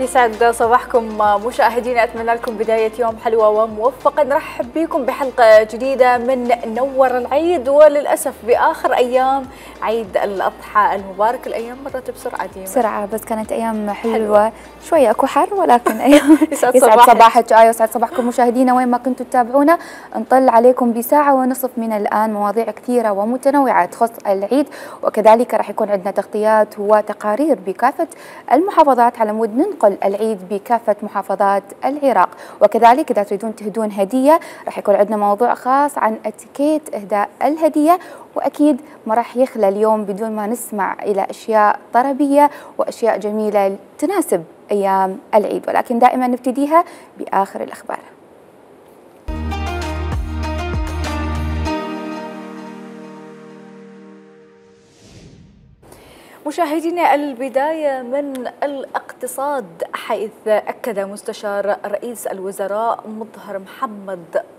يسعد صباحكم مشاهدينا، اتمنى لكم بدايه يوم حلوه وموفقه. نرحب بكم بحلقه جديده من نور العيد، وللاسف باخر ايام عيد الاضحى المبارك. الايام مرت بسرعه ديما بسرعه، بس كانت ايام حلوه شويه اكو حر، ولكن ايام يسعد صباحك ويسعد صباحكم مشاهدينا وين ما كنتوا تتابعونا. نطل عليكم بساعه ونصف من الان مواضيع كثيره ومتنوعه تخص العيد، وكذلك راح يكون عندنا تغطيات وتقارير بكافه المحافظات على مود ننقل العيد بكافة محافظات العراق. وكذلك إذا تريدون تهدون هدية راح يكون عندنا موضوع خاص عن اتيكيت إهداء الهدية، وأكيد ما راح يخلى اليوم بدون ما نسمع إلى أشياء طربية وأشياء جميلة تناسب أيام العيد، ولكن دائما نبتديها بآخر الأخبار. مشاهدينا، البداية من الاقتصاد، حيث أكد مستشار رئيس الوزراء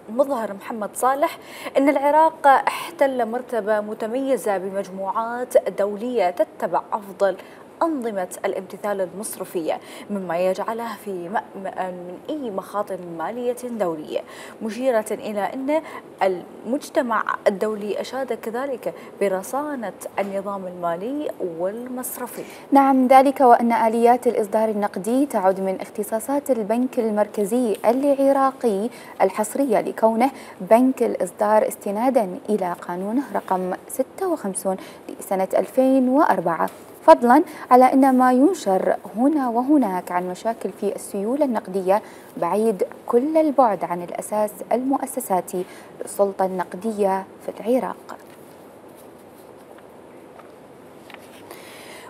مظهر محمد صالح أن العراق احتل مرتبة متميزة بمجموعات دولية تتبع أفضل أنظمة الامتثال المصرفية، مما يجعله في مأمن من أي مخاطر مالية دولية، مشيرة إلى أن المجتمع الدولي أشاد كذلك برصانة النظام المالي والمصرفي. نعم، ذلك وأن آليات الإصدار النقدي تعد من اختصاصات البنك المركزي العراقي الحصرية لكونه بنك الإصدار استنادا إلى قانونه رقم 56 لسنة 2004، فضلا على أن ما ينشر هنا وهناك عن مشاكل في السيولة النقدية بعيد كل البعد عن الأساس المؤسساتي للسلطة النقدية في العراق.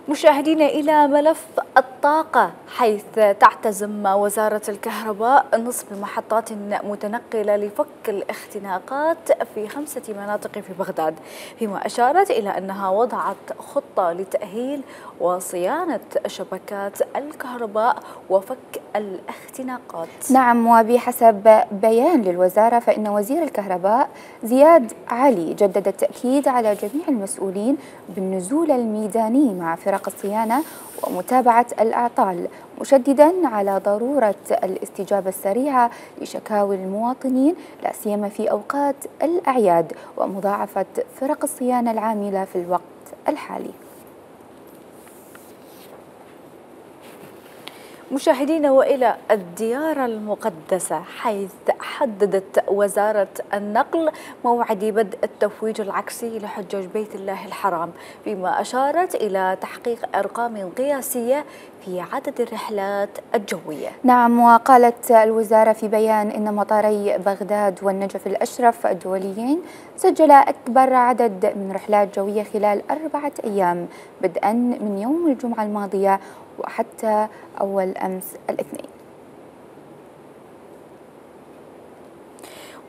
مشاهدينا، إلى ملف الطاقة، حيث تعتزم وزارة الكهرباء نصب محطات متنقلة لفك الاختناقات في 5 مناطق في بغداد، فيما أشارت إلى أنها وضعت خطة لتأهيل وصيانة شبكات الكهرباء وفك الاختناقات. نعم، وبحسب بيان للوزارة فإن وزير الكهرباء زياد علي جدد التأكيد على جميع المسؤولين بالنزول الميداني مع فرق الصيانة ومتابعة الأعطال، مشددا على ضرورة الاستجابة السريعة لشكاوي المواطنين لا سيما في أوقات الأعياد، ومضاعفة فرق الصيانة العاملة في الوقت الحالي. مشاهدينا، وإلى الديار المقدسة، حيث حددت وزارة النقل موعد بدء التفويج العكسي لحجاج بيت الله الحرام، فيما أشارت إلى تحقيق أرقام قياسية في عدد الرحلات الجوية. نعم، وقالت الوزارة في بيان إن مطاري بغداد والنجف الأشرف الدوليين سجل أكبر عدد من رحلات جوية خلال 4 أيام بدءا من يوم الجمعة الماضية وحتى أول أمس الاثنين.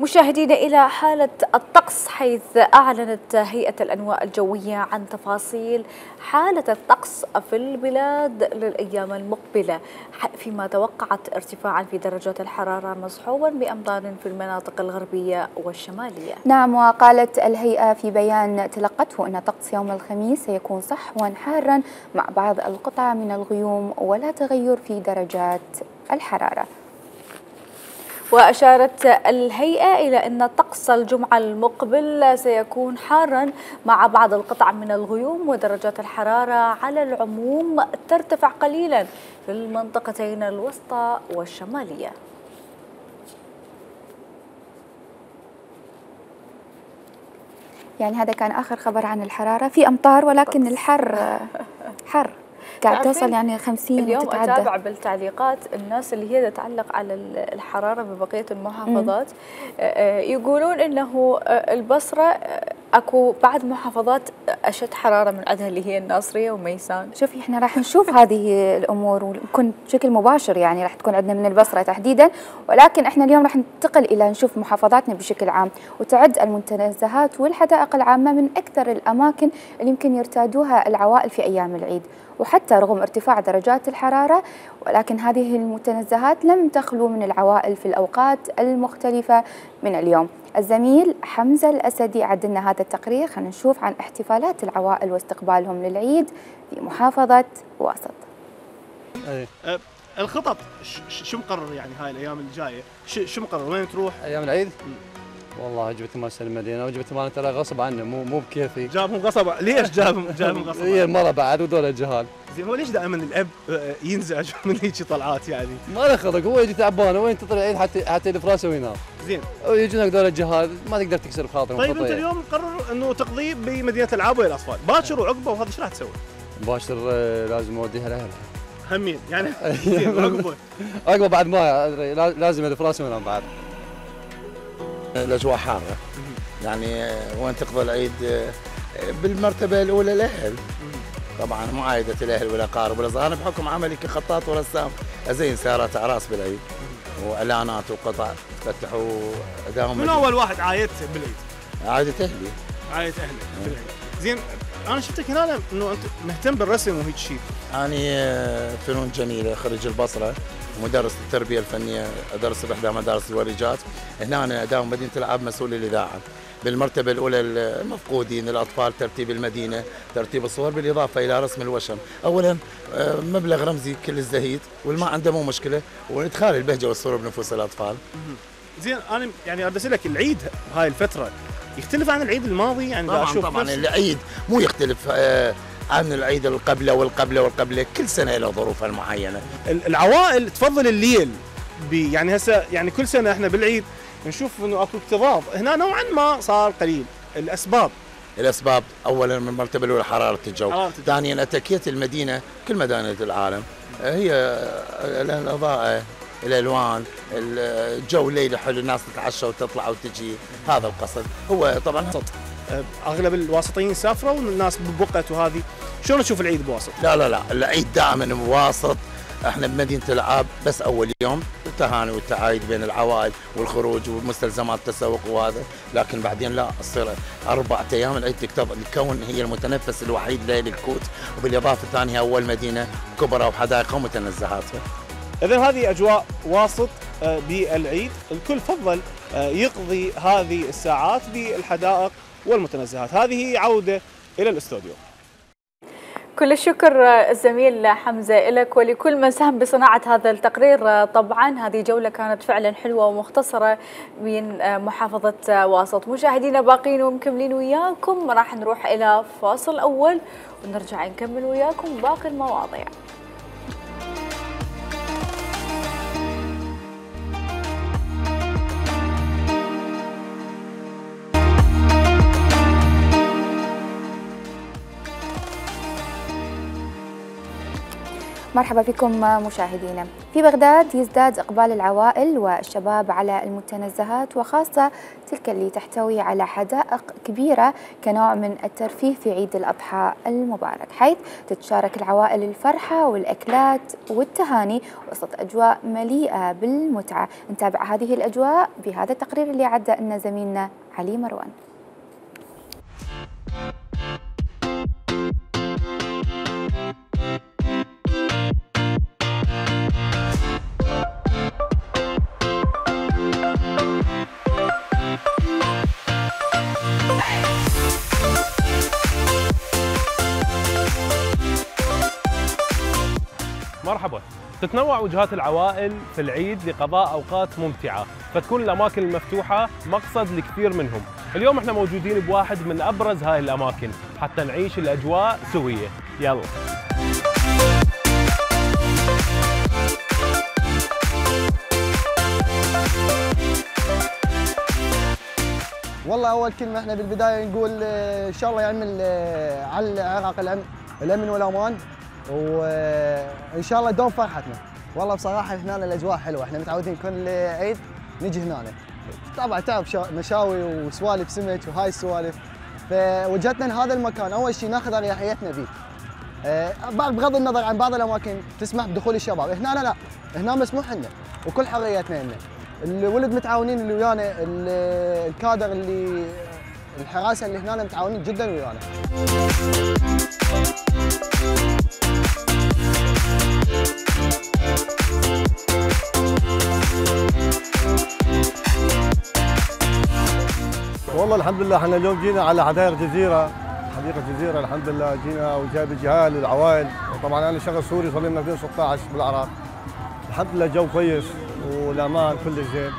مشاهدينا، إلى حالة الطقس، حيث أعلنت هيئة الأنواء الجوية عن تفاصيل حالة الطقس في البلاد للأيام المقبلة، فيما توقعت ارتفاعا في درجات الحرارة مصحوبا بأمطار في المناطق الغربية والشمالية. نعم، وقالت الهيئة في بيان تلقته أن طقس يوم الخميس سيكون صحوا حارا مع بعض القطع من الغيوم ولا تغير في درجات الحرارة. وأشارت الهيئة إلى أن طقس الجمعة المقبل سيكون حارا مع بعض القطع من الغيوم، ودرجات الحرارة على العموم ترتفع قليلا في المنطقتين الوسطى والشمالية. يعني هذا كان آخر خبر عن الحرارة. في أمطار ولكن الحر حر قاعد توصل يعني 50 اليوم وتتعدى. أتابع بالتعليقات الناس اللي هي تتعلق على الحرارة ببقية المحافظات، يقولون إنه البصرة أكو بعد محافظات أشد حرارة من عندها اللي هي الناصرية وميسان. شوفي، احنا راح نشوف هذه الأمور ونكون بشكل مباشر، يعني راح تكون عندنا من البصرة تحديدا، ولكن احنا اليوم راح ننتقل إلى نشوف محافظاتنا بشكل عام. وتعد المنتزهات والحدائق العامة من أكثر الأماكن اللي يمكن يرتادوها العوائل في أيام العيد، وحتى رغم ارتفاع درجات الحرارة ولكن هذه المتنزهات لم تخلو من العوائل في الأوقات المختلفة من اليوم. الزميل حمزة الأسدي عد لنا هذا التقرير، خلينا نشوف عن احتفالات العوائل واستقبالهم للعيد في محافظة واسط. الخطط شو مقرر يعني هاي الايام الجايه؟ شو مقرر؟ وين تروح؟ ايام العيد؟ والله جبت مال المدينه وجبت مال ترى غصب عنه مو بكيفي. جابهم غصب؟ ليش جابهم غصب؟ هي المره بعد ودول الجهال. زين هو ليش دائما الاب ينزعج من هيك طلعات يعني؟ ما له خلق، هو يجي تعبان وين تطلع العيد حتى يلف وينام. زين ويجون هذول الجهال ما تقدر تكسر بخاطرهم. طيب انت اليوم مقرر انه تقضيه بمدينه الالعاب والاطفال، باكر وعقبه وهذا ايش راح تسوي؟ مباشر لازم اوديها لاهلها. همين يعني زين عقبه بعد ما ادري لازم الف راسي وينام بعد. الاجواء حاره يعني وين تقضي العيد بالمرتبه الاولى الاهل. طبعا مو عائده الاهل ولا اقارب ولا اصدقاء، انا بحكم عملي كخطاط ورسام ازين سيارات اعراس بالعيد واعلانات وقطع تفتحوا اداهم. من اول واحد عايدته بالعيد؟ عائده اهلي. عائده اهلي بالعيد. زين انا شفتك هنا انه انت مهتم بالرسم وهيك شيء. أنا فنون جميلة، خريج البصرة، مدرس التربية الفنية، أدرس بإحدى مدارس الوريجات. هنا أنا أداوم مدينة الألعاب مسؤول الإذاعة. بالمرتبة الأولى المفقودين الأطفال، ترتيب المدينة، ترتيب الصور، بالإضافة إلى رسم الوشم. أولاً مبلغ رمزي كل الزهيد والما عنده مو مشكلة، وإدخال البهجة والسرور بنفوس الأطفال. زين أنا يعني أريد أسألك، العيد هاي الفترة يختلف عن العيد الماضي؟ يعني طبعاً العيد مو يختلف عن العيد القبله والقبله، كل سنه له ظروفها المعينه. العوائل تفضل الليل يعني هسه يعني كل سنه احنا بالعيد نشوف انه اكو اكتظاظ، هنا نوعا ما صار قليل. الاسباب اولا من المرتبه الاولى حراره الجو، ثانيا اتكيه المدينه كل مدائن العالم هي الاضاءه، الالوان، الجو ليله حلو، الناس تتعشى وتطلع وتجي، هذا القصد. هو طبعا اغلب الواسطيين سافروا والناس ببقت وهذه، شلون تشوف العيد بواسط؟ لا العيد دائما بواسط. احنا بمدينه الالعاب بس اول يوم التهاني والتعايد بين العوائل والخروج ومستلزمات التسوق وهذا، لكن بعدين لا، تصير 4 ايام العيد تكون هي المتنفس الوحيد ليل الكوت، وبالاضافه الثانيه اول مدينه كبرى وحدائق ومتنزهاتها. اذا هذه اجواء واسط بالعيد، الكل فضل يقضي هذه الساعات بالحدائق والمتنزهات. هذه عوده الى الاستوديو. كل الشكر الزميل حمزة لك ولكل من ساهم بصناعة هذا التقرير. طبعا هذه جولة كانت فعلا حلوة ومختصرة من محافظة واسط. مشاهدينا باقين ومكملين وياكم، راح نروح إلى فاصل أول ونرجع نكمل وياكم باقي المواضيع. مرحبا بكم مشاهدينا. في بغداد يزداد إقبال العوائل والشباب على المتنزهات، وخاصة تلك اللي تحتوي على حدائق كبيرة كنوع من الترفيه في عيد الأضحى المبارك، حيث تتشارك العوائل الفرحة والأكلات والتهاني وسط أجواء مليئة بالمتعة. نتابع هذه الأجواء بهذا التقرير اللي عدى لنا زميلنا علي مروان. مرحبا. تتنوع وجهات العوائل في العيد لقضاء أوقات ممتعة، فتكون الأماكن المفتوحة مقصد لكثير منهم. اليوم احنا موجودين بواحد من أبرز هاي الأماكن حتى نعيش الأجواء سوية. يلا. والله أول كلمة احنا بالبداية نقول إن شاء الله يعمل على العراق الأمن والأمان، وإن شاء الله دوم فرحتنا. والله بصراحة هنا الأجواء حلوة، احنا متعودين كل عيد نجي هنا. طبعا تعرف مشاوي وسوالف سمك وهاي السوالف، فوجهتنا لهذا المكان أول شيء ناخذ أريحيتنا فيه. بغض النظر عن بعض الأماكن تسمح بدخول الشباب، هنا لا، هنا مسموح لنا وكل حريتنا لنا. الولد متعاونين اللي ويانا، الكادر اللي الحراسة اللي هنا متعاونين جدا ويانا. والله الحمد لله احنا اليوم جينا على حديقة جزيرة الحمد لله، جينا وجايب الجهال والعوائل. طبعا انا شغل سوري، صار لنا 2016 بالعراق، الحمد لله جو كويس والامان كلش زين.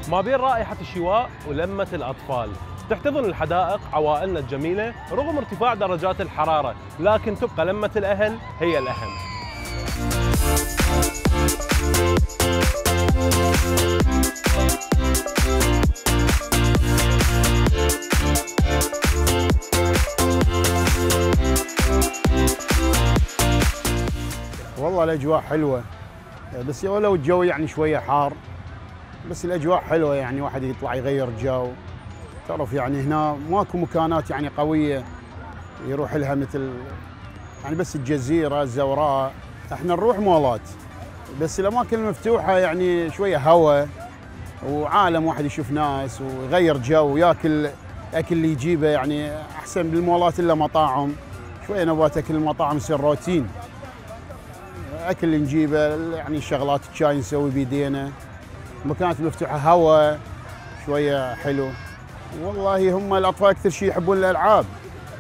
ما بين رائحة الشواء ولمة الأطفال تحتضن الحدائق عوائلنا الجميلة رغم ارتفاع درجات الحرارة، لكن تبقى لمة الأهل هي الأهم. والله الأجواء حلوة، بس ولو الجو يعني شوية حار، بس الأجواء حلوة يعني واحد يطلع يغير جو. تعرف يعني هنا ماكو مكانات يعني قوية يروح لها مثل يعني بس الجزيرة الزوراء. احنا نروح مولات، بس الأماكن المفتوحة يعني شوية هواء وعالم، واحد يشوف ناس ويغير جو وياكل أكل اللي يجيبه، يعني أحسن بالمولات إلا مطاعم. شوية نبغى أكل المطاعم يصير روتين، أكل اللي نجيبه يعني شغلات الشاي نسوي بيدينا. المكانات المفتوحة هواء شوية حلو. والله هم الأطفال أكثر شيء يحبون الألعاب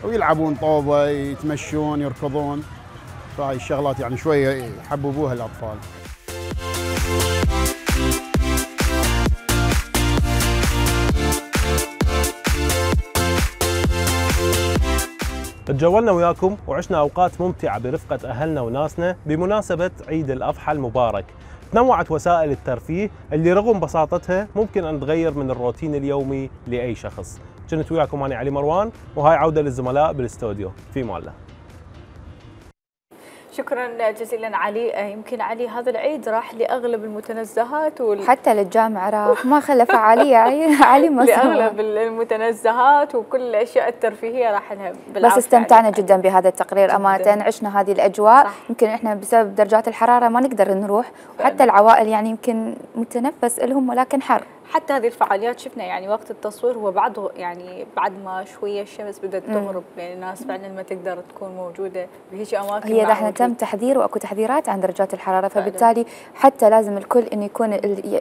ويلعبون طوبة، يتمشون يركضون، فهاي الشغلات يعني شوية يحببوها الأطفال. تجولنا وياكم وعشنا أوقات ممتعة برفقة أهلنا وناسنا بمناسبة عيد الأضحى المبارك. تنوعت وسائل الترفيه اللي رغم بساطتها ممكن أن تغير من الروتين اليومي لأي شخص. كنت وياكم أنا علي مروان، وهاي عودة للزملاء بالاستوديو. في مالله. شكرا جزيلا علي. يمكن علي هذا العيد راح لأغلب المتنزهات حتى للجامعة راح، ما خلى فعالية علي ما لأغلب المتنزهات وكل الأشياء الترفيهية راح لها بس استمتعنا جدا بهذا التقرير أمانة، عشنا هذه الأجواء. صح. يمكن إحنا بسبب درجات الحرارة ما نقدر نروح، وحتى العوائل يعني يمكن متنفس لهم ولكن حر. حتى هذه الفعاليات شفنا يعني وقت التصوير هو بعده يعني بعد ما شويه الشمس بدات تغرب، يعني الناس فعلا ما تقدر تكون موجوده بهيك اماكن. هي دحين تم تحذير واكو تحذيرات عن درجات الحراره، فبالتالي حتى لازم الكل انه يكون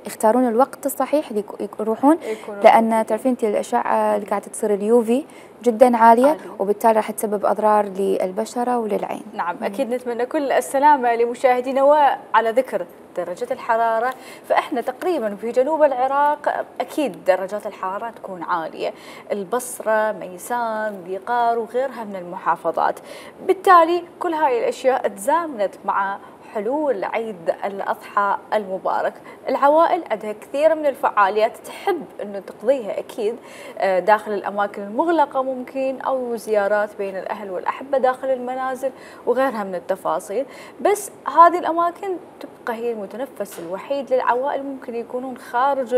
يختارون الوقت الصحيح اللي يروحون، لان تعرفين انت الاشعه اللي قاعده تصير اليوفي جدا عاليه، وبالتالي راح تسبب اضرار للبشره وللعين. نعم اكيد نتمنى كل السلامه لمشاهدينا. وعلى ذكر درجة الحرارة، فإحنا تقريبا في جنوب العراق أكيد درجات الحرارة تكون عالية، البصرة، ميسان، بيقار وغيرها من المحافظات. بالتالي كل هاي الأشياء تزامنت مع حلول عيد الأضحى المبارك. العوائل عندها كثير من الفعاليات تحب أنه تقضيها أكيد داخل الأماكن المغلقة ممكن، أو زيارات بين الأهل والأحبة داخل المنازل وغيرها من التفاصيل. بس هذه الأماكن تبقى هي المتنفس الوحيد للعوائل، ممكن يكونون خارج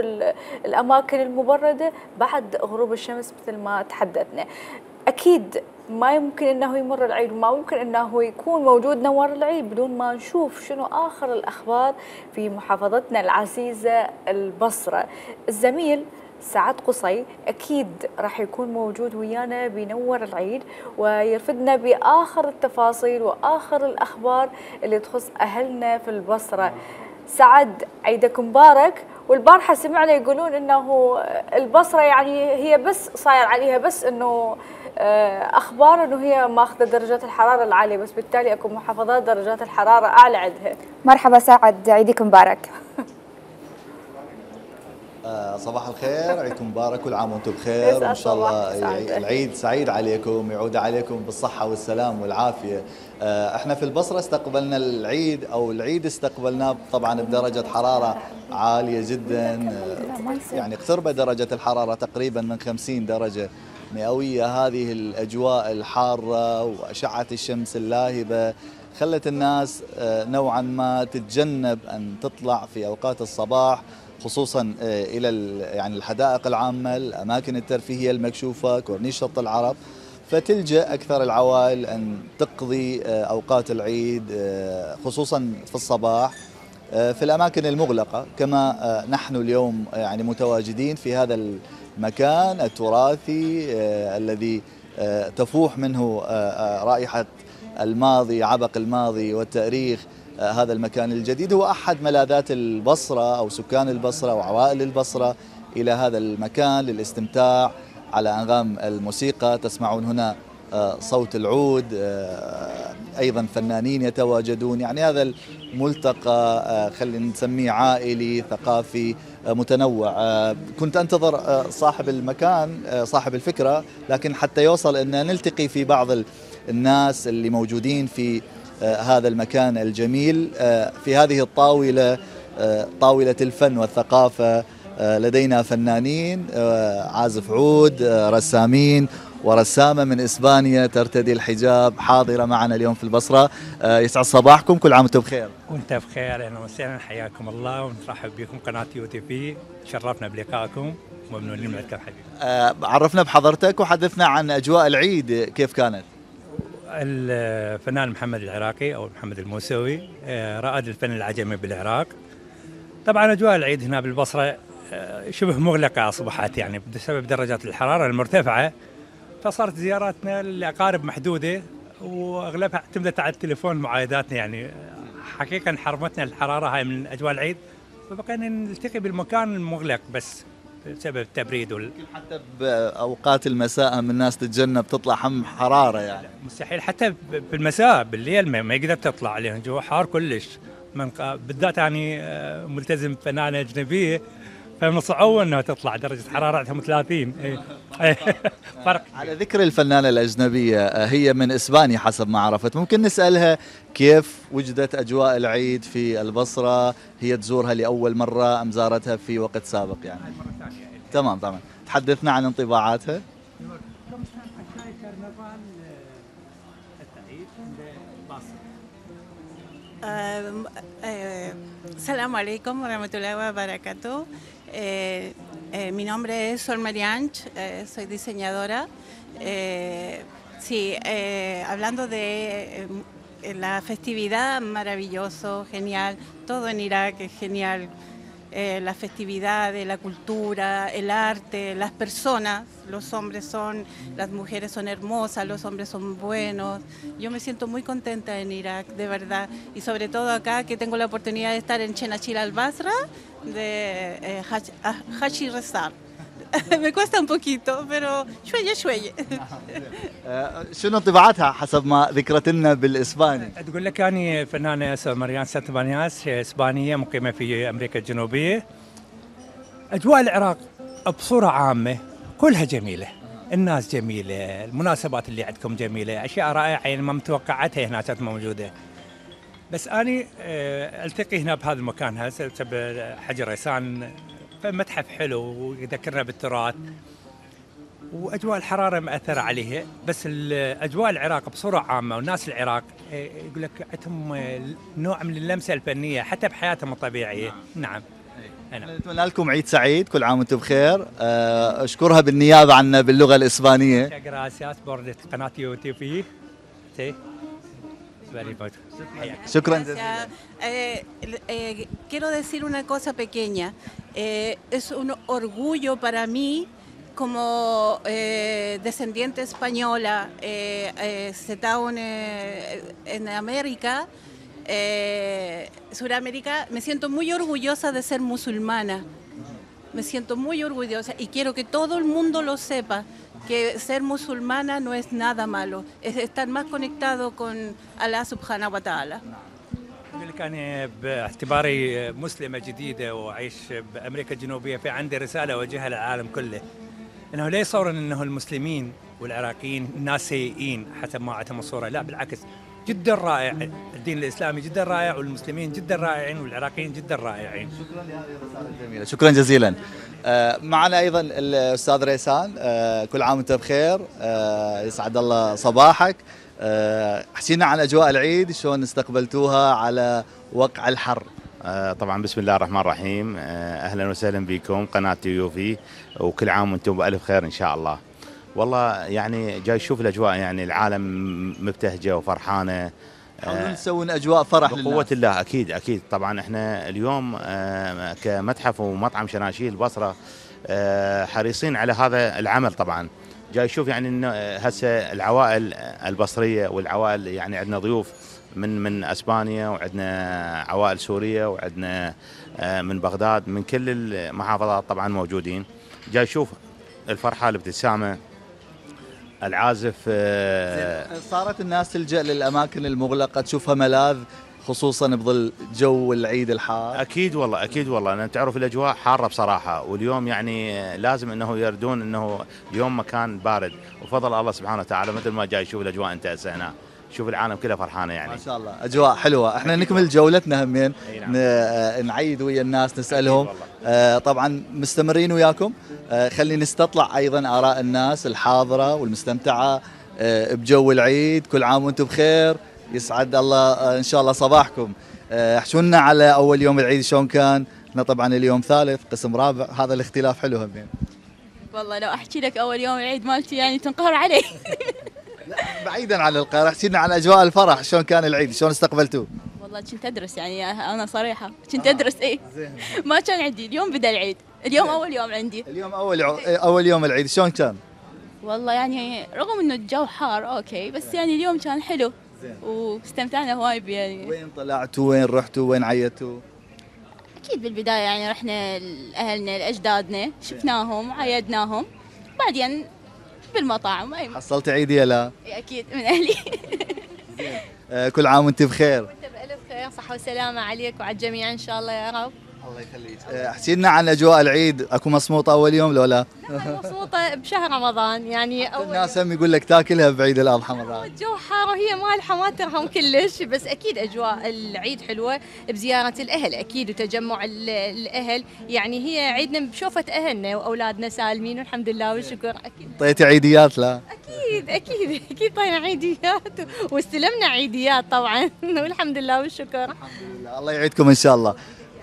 الأماكن المبردة بعد غروب الشمس مثل ما تحدثنا. أكيد ما يمكن أنه يمر العيد وما ممكن أنه يكون موجود نوار العيد بدون ما نشوف شنو آخر الأخبار في محافظتنا العزيزة البصرة. الزميل سعد قصي أكيد راح يكون موجود ويانا بنور العيد ويرفدنا بآخر التفاصيل وآخر الأخبار اللي تخص أهلنا في البصرة. سعد عيدك مبارك. والبارحة سمعنا يقولون أنه البصرة يعني هي بس صاير عليها بس أنه أخبار أنه هي ماخذة درجات الحرارة العالية، بس بالتالي أكو محافظات درجات الحرارة أعلى عندها. مرحبا سعد، عيدك مبارك. صباح الخير، عيدكم مبارك، كل عام وانتم بخير، وان شاء الله العيد سعيد عليكم، يعود عليكم بالصحة والسلام والعافية. احنا في البصرة استقبلنا العيد، او العيد استقبلناه طبعا بدرجة حرارة عالية جدا، يعني اقتربت درجة الحرارة تقريبا من 50 درجة مئوية. هذه الأجواء الحارة وأشعة الشمس اللاهبة خلت الناس نوعا ما تتجنب أن تطلع في أوقات الصباح، خصوصا إلى يعني الحدائق العامة، الأماكن الترفيهية المكشوفة، كورنيش شط العرب، فتلجأ أكثر العوائل أن تقضي أوقات العيد خصوصا في الصباح في الأماكن المغلقة، كما نحن اليوم يعني متواجدين في هذا المكان التراثي الذي تفوح منه رائحة الماضي، عبق الماضي والتاريخ. هذا المكان الجديد هو أحد ملاذات البصرة أو سكان البصرة وعوائل البصرة إلى هذا المكان للاستمتاع على أنغام الموسيقى. تسمعون هنا صوت العود، أيضا فنانين يتواجدون. يعني هذا الملتقى خلينا نسميه عائلي ثقافي متنوع. كنت أنتظر صاحب المكان صاحب الفكرة، لكن حتى يوصل أن نلتقي في بعض الناس اللي موجودين في هذا المكان الجميل في هذه الطاولة، طاولة الفن والثقافة. لدينا فنانين، عازف عود، رسامين ورسامة من إسبانيا ترتدي الحجاب حاضرة معنا اليوم في البصرة. يسعد صباحكم، كل عام وانتم بخير. وانت بخير، اهلا وسهلا، حياكم الله ونرحب بكم قناة UTV. شرفنا بلقائكم وممنونين لكم حبيبي. عرفنا بحضرتك وحدثنا عن أجواء العيد كيف كانت. الفنان محمد العراقي أو محمد الموسوي رائد الفن العجمي بالعراق. طبعا أجواء العيد هنا بالبصرة شبه مغلقة أصبحت، يعني بسبب درجات الحرارة المرتفعة، فصارت زياراتنا للأقارب محدودة وأغلبها اعتمدت على التليفون معايداتنا. يعني حقيقة حرمتنا الحرارة هاي من أجواء العيد، فبقينا نلتقي بالمكان المغلق بس بسبب التبريد حتى بأوقات المساء من الناس تتجنب تطلع هم حرارة، يعني مستحيل حتى بالمساء بالليل ما يقدر تطلع عليه، جو حار كلش. بالذات يعني ملتزم فنانة أجنبية، فمن صعوبة انها تطلع درجة حرارتهم 30. فرق. على ذكر الفنانة الأجنبية، هي من إسبانيا حسب ما عرفت، ممكن نسألها كيف وجدت أجواء العيد في البصرة؟ هي تزورها لأول مرة أم زارتها في وقت سابق يعني؟ تمام. تحدثنا عن انطباعاتها. Assalamu alaikum wa rahmatullahi wa barakatuh. Mi nombre es Sol Marianch, soy diseñadora. Hablando de la festividad, maravilloso, genial. Todo en Irak es genial. La festividad de la cultura, el arte, las personas, las mujeres son hermosas, los hombres son buenos. Yo me siento muy contenta en Irak, de verdad. Y sobre todo acá que tengo la oportunidad de estar en Chenachil al-Basra, de Hachi Rezar. Me cuesta un poquito, pero شوية. شنو انطباعاتها حسب ما ذكرت لنا بالإسباني؟ تقول لك أنا فنانة مريان سانتبانياس، إسبانية مقيمة في أمريكا الجنوبية. أجواء العراق بصورة عامة كلها جميلة، الناس جميلة، المناسبات اللي عندكم جميلة، أشياء رائعة يعني ما متوقعتها هنا كانت موجودة. بس أنا ألتقي هنا بهذا المكان هذا حجر ريسان، فمتحف حلو ويذكرنا بالتراث، واجواء الحراره مأثره عليها. بس اجواء العراق بصوره عامه والناس العراق يقول لك عندهم نوع من اللمسه الفنيه حتى بحياتهم الطبيعيه. نعم. نتمنى لكم عيد سعيد، كل عام وانتم بخير. اشكرها بالنيابه عنا باللغه الاسبانيه. gracias por قناه UTV. شكرا جزيلا. Quiero decir una cosa pequeña. Es un orgullo para mí como descendiente española, en América, Suramérica. Me siento muy orgullosa de ser musulmana. Me siento muy orgullosa y quiero que todo el mundo lo sepa, que ser musulmana no es nada malo, es estar más conectado con Allah subhanahu wa ta'ala. أنا باعتباري مسلمة جديدة وأعيش بأمريكا الجنوبية، في عندي رسالة أوجهها للعالم كله، أنه لا يصورون أنه المسلمين والعراقيين ناس سيئين حسب ما عندهم الصورة، لا بالعكس، جدا رائع الدين الإسلامي، جدا رائع، والمسلمين جدا رائعين، والعراقيين جدا رائعين. شكرا لهذه الرسالة الجميلة، شكرا جزيلا. معنا أيضا الأستاذ ريسان، كل عام وأنت بخير، يسعد الله صباحك. احكينا عن أجواء العيد، شلون استقبلتوها على وقع الحر؟ طبعا بسم الله الرحمن الرحيم، أهلا وسهلا بكم قناة UTV، وكل عام وأنتم بألف خير إن شاء الله. والله يعني جاي أشوف الأجواء، يعني العالم مبتهجة وفرحانة. نسوون أجواء فرح بقوة للناس. الله أكيد طبعا احنا اليوم كمتحف ومطعم شناشيل البصرة حريصين على هذا العمل. طبعا جاي أشوف يعني إنه هسه العوائل البصرية والعوائل، يعني عندنا ضيوف من اسبانيا، وعندنا عوائل سوريه، وعندنا من بغداد، من كل المحافظات طبعا موجودين. جاي اشوف الفرحه، الابتسامه، العازف صارت الناس تلجأ للأماكن المغلقة تشوفها ملاذ خصوصا بظل جو العيد الحار؟ اكيد والله اكيد والله، انا تعرف الاجواء حاره بصراحه، واليوم يعني لازم انه يردون انه اليوم مكان بارد، وفضل الله سبحانه وتعالى مثل ما جاي يشوف الاجواء انت هسه هنا، شوف العالم كله فرحانه يعني. ما شاء الله اجواء حلوه، احنا نكمل جولتنا همين نعيد ويا الناس نسالهم. طبعا مستمرين وياكم، خلي نستطلع ايضا اراء الناس الحاضره والمستمتعه بجو العيد. كل عام وانتم بخير، يسعد الله ان شاء الله صباحكم. احكوا لنا على اول يوم العيد شلون كان؟ احنا طبعا اليوم ثالث قسم رابع، هذا الاختلاف حلو همين. والله لو احكي لك اول يوم العيد مالتي يعني تنقهر علي. بعيدا عن القاهره، احكي لنا عن اجواء الفرح، شلون كان العيد؟ شلون استقبلتوه؟ والله كنت ادرس يعني انا صريحه كنت ادرس ما كان عندي. اليوم بدا العيد، اليوم اول يوم عندي. اليوم اول يوم العيد، شلون كان؟ والله يعني رغم انه الجو حار اوكي، بس يعني اليوم كان حلو واستمتعنا هواي يعني. وين طلعتوا؟ وين رحتوا؟ وين عيدتوا؟ اكيد بالبدايه يعني رحنا لاهلنا لاجدادنا، شفناهم عيدناهم، بعدين بالمطاعم. حصلت عيدية لا؟ اكيد من اهلي. كل عام وانت بخير. وانت بالف خير، صحه وسلامه عليك وعلى الجميع ان شاء الله يا رب. الله يخليك. احكي لنا عن اجواء العيد، اكو مصموطه اول يوم لو لا؟ مبسوطه بشهر رمضان يعني. اول الناس هم يقول لك تاكلها بعيد الاضحى مرات. الجو حار وهي مالحه ما ترهم كلش، بس اكيد اجواء العيد حلوه بزياره الاهل اكيد وتجمع الاهل، يعني هي عيدنا بشوفه اهلنا واولادنا سالمين والحمد لله والشكر. اكيد طيتي عيديات لا؟ اكيد طينا عيديات واستلمنا عيديات طبعا والحمد لله والشكر. الحمد لله، الله يعيدكم ان شاء الله.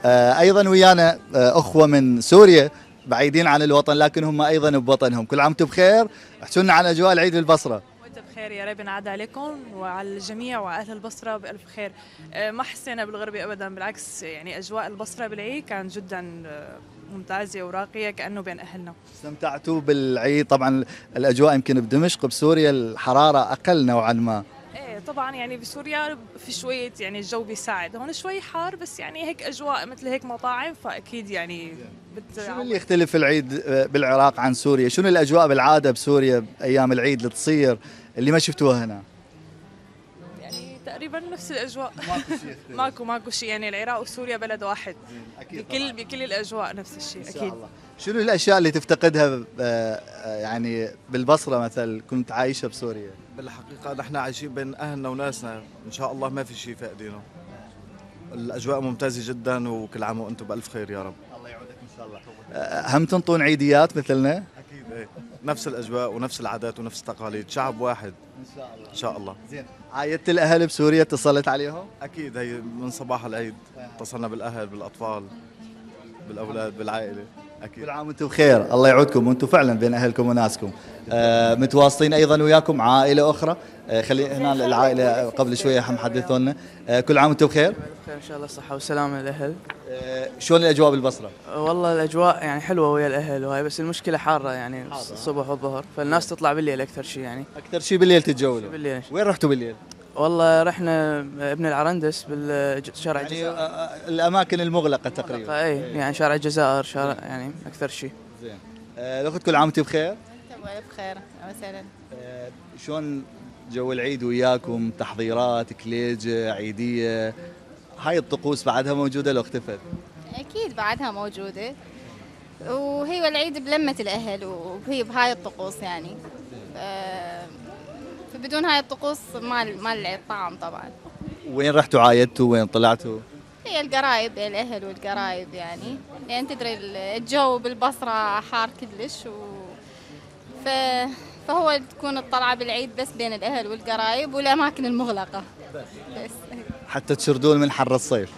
ايضا ويانا اخوه من سوريا بعيدين عن الوطن لكن هم ايضا بوطنهم. كل عام وانتم بخير، احكوا لنا عن اجواء العيد بالبصره. وانت بخير يا رب ينعاد عليكم وعلى الجميع واهل البصره بالف خير. ما حسينا بالغربه ابدا، بالعكس يعني اجواء البصره بالعيد كان جدا ممتازه وراقيه كانه بين اهلنا. استمتعتوا بالعيد؟ طبعا الاجواء يمكن بدمشق بسوريا الحراره اقل نوعا ما. طبعا يعني بسوريا في شويه يعني الجو بيساعد، هون شوي حار بس يعني هيك اجواء مثل هيك مطاعم فاكيد يعني شنو اللي يختلف العيد بالعراق عن سوريا؟ شنو الاجواء بالعاده بسوريا ايام العيد اللي تصير اللي ما شفتوها هنا؟ يعني تقريبا نفس الاجواء. ماكو شيء يعني، العراق وسوريا بلد واحد. أكيد بكل الاجواء نفس الشيء اكيد. الله. شنو الاشياء اللي تفتقدها يعني بالبصره مثلا كنت عايشه بسوريا؟ بالحقيقه نحن عايشين بين اهلنا وناسنا، ان شاء الله ما في شيء فاقدينه. الاجواء ممتازه جدا وكل عام وانتم بالف خير يا رب. الله يعودك ان شاء الله. هم تنطون عيديات مثلنا؟ اكيد نفس الاجواء ونفس العادات ونفس التقاليد، شعب واحد ان شاء الله. ان شاء الله. زين، عايدت الاهل بسوريا؟ اتصلت عليهم؟ اكيد، هي من صباح العيد اتصلنا بالاهل بالاطفال بالاولاد بالعائله. أكيد. كل عام وانتم بخير، الله يعودكم وانتم فعلا بين اهلكم وناسكم. متواصلين ايضا وياكم عائله اخرى، خلي هنا العائله قبل شويه هم حدثوا لنا. كل عام وانتم بخير. بخير ان شاء الله، صحه وسلامه للاهل. شلون الاجواء بالبصره؟ والله الاجواء يعني حلوه ويا الاهل وهي، بس المشكله حاره يعني الصبح والظهر، فالناس تطلع بالليل اكثر شيء يعني. اكثر شيء بالليل تتجولوا؟ بالليل. وين رحتوا بالليل؟ والله رحنا ابن العرندس بالشارع يعني الجزائر. الاماكن المغلقه تقريبا. اي يعني شارع الجزائر، شارع يعني اكثر شيء. زين. الاخت كل عام وانت بخير. بخير وسهلا. شلون جو العيد وياكم؟ تحضيرات، كليجه، عيديه، هاي الطقوس بعدها موجوده لو اختفت؟ اكيد بعدها موجوده، وهي والعيد بلمه الاهل وهي بهاي الطقوس يعني. فبدون هاي الطقوس ما العيد طعم طبعا. وين رحتوا عايدتوا؟ وين طلعتوا؟ هي القرايب، الاهل والقرايب يعني تدري الجو بالبصره حار كلش فهو تكون الطلعه بالعيد بس بين الاهل والقرايب والاماكن المغلقه بس حتى تشردون من حر الصيف.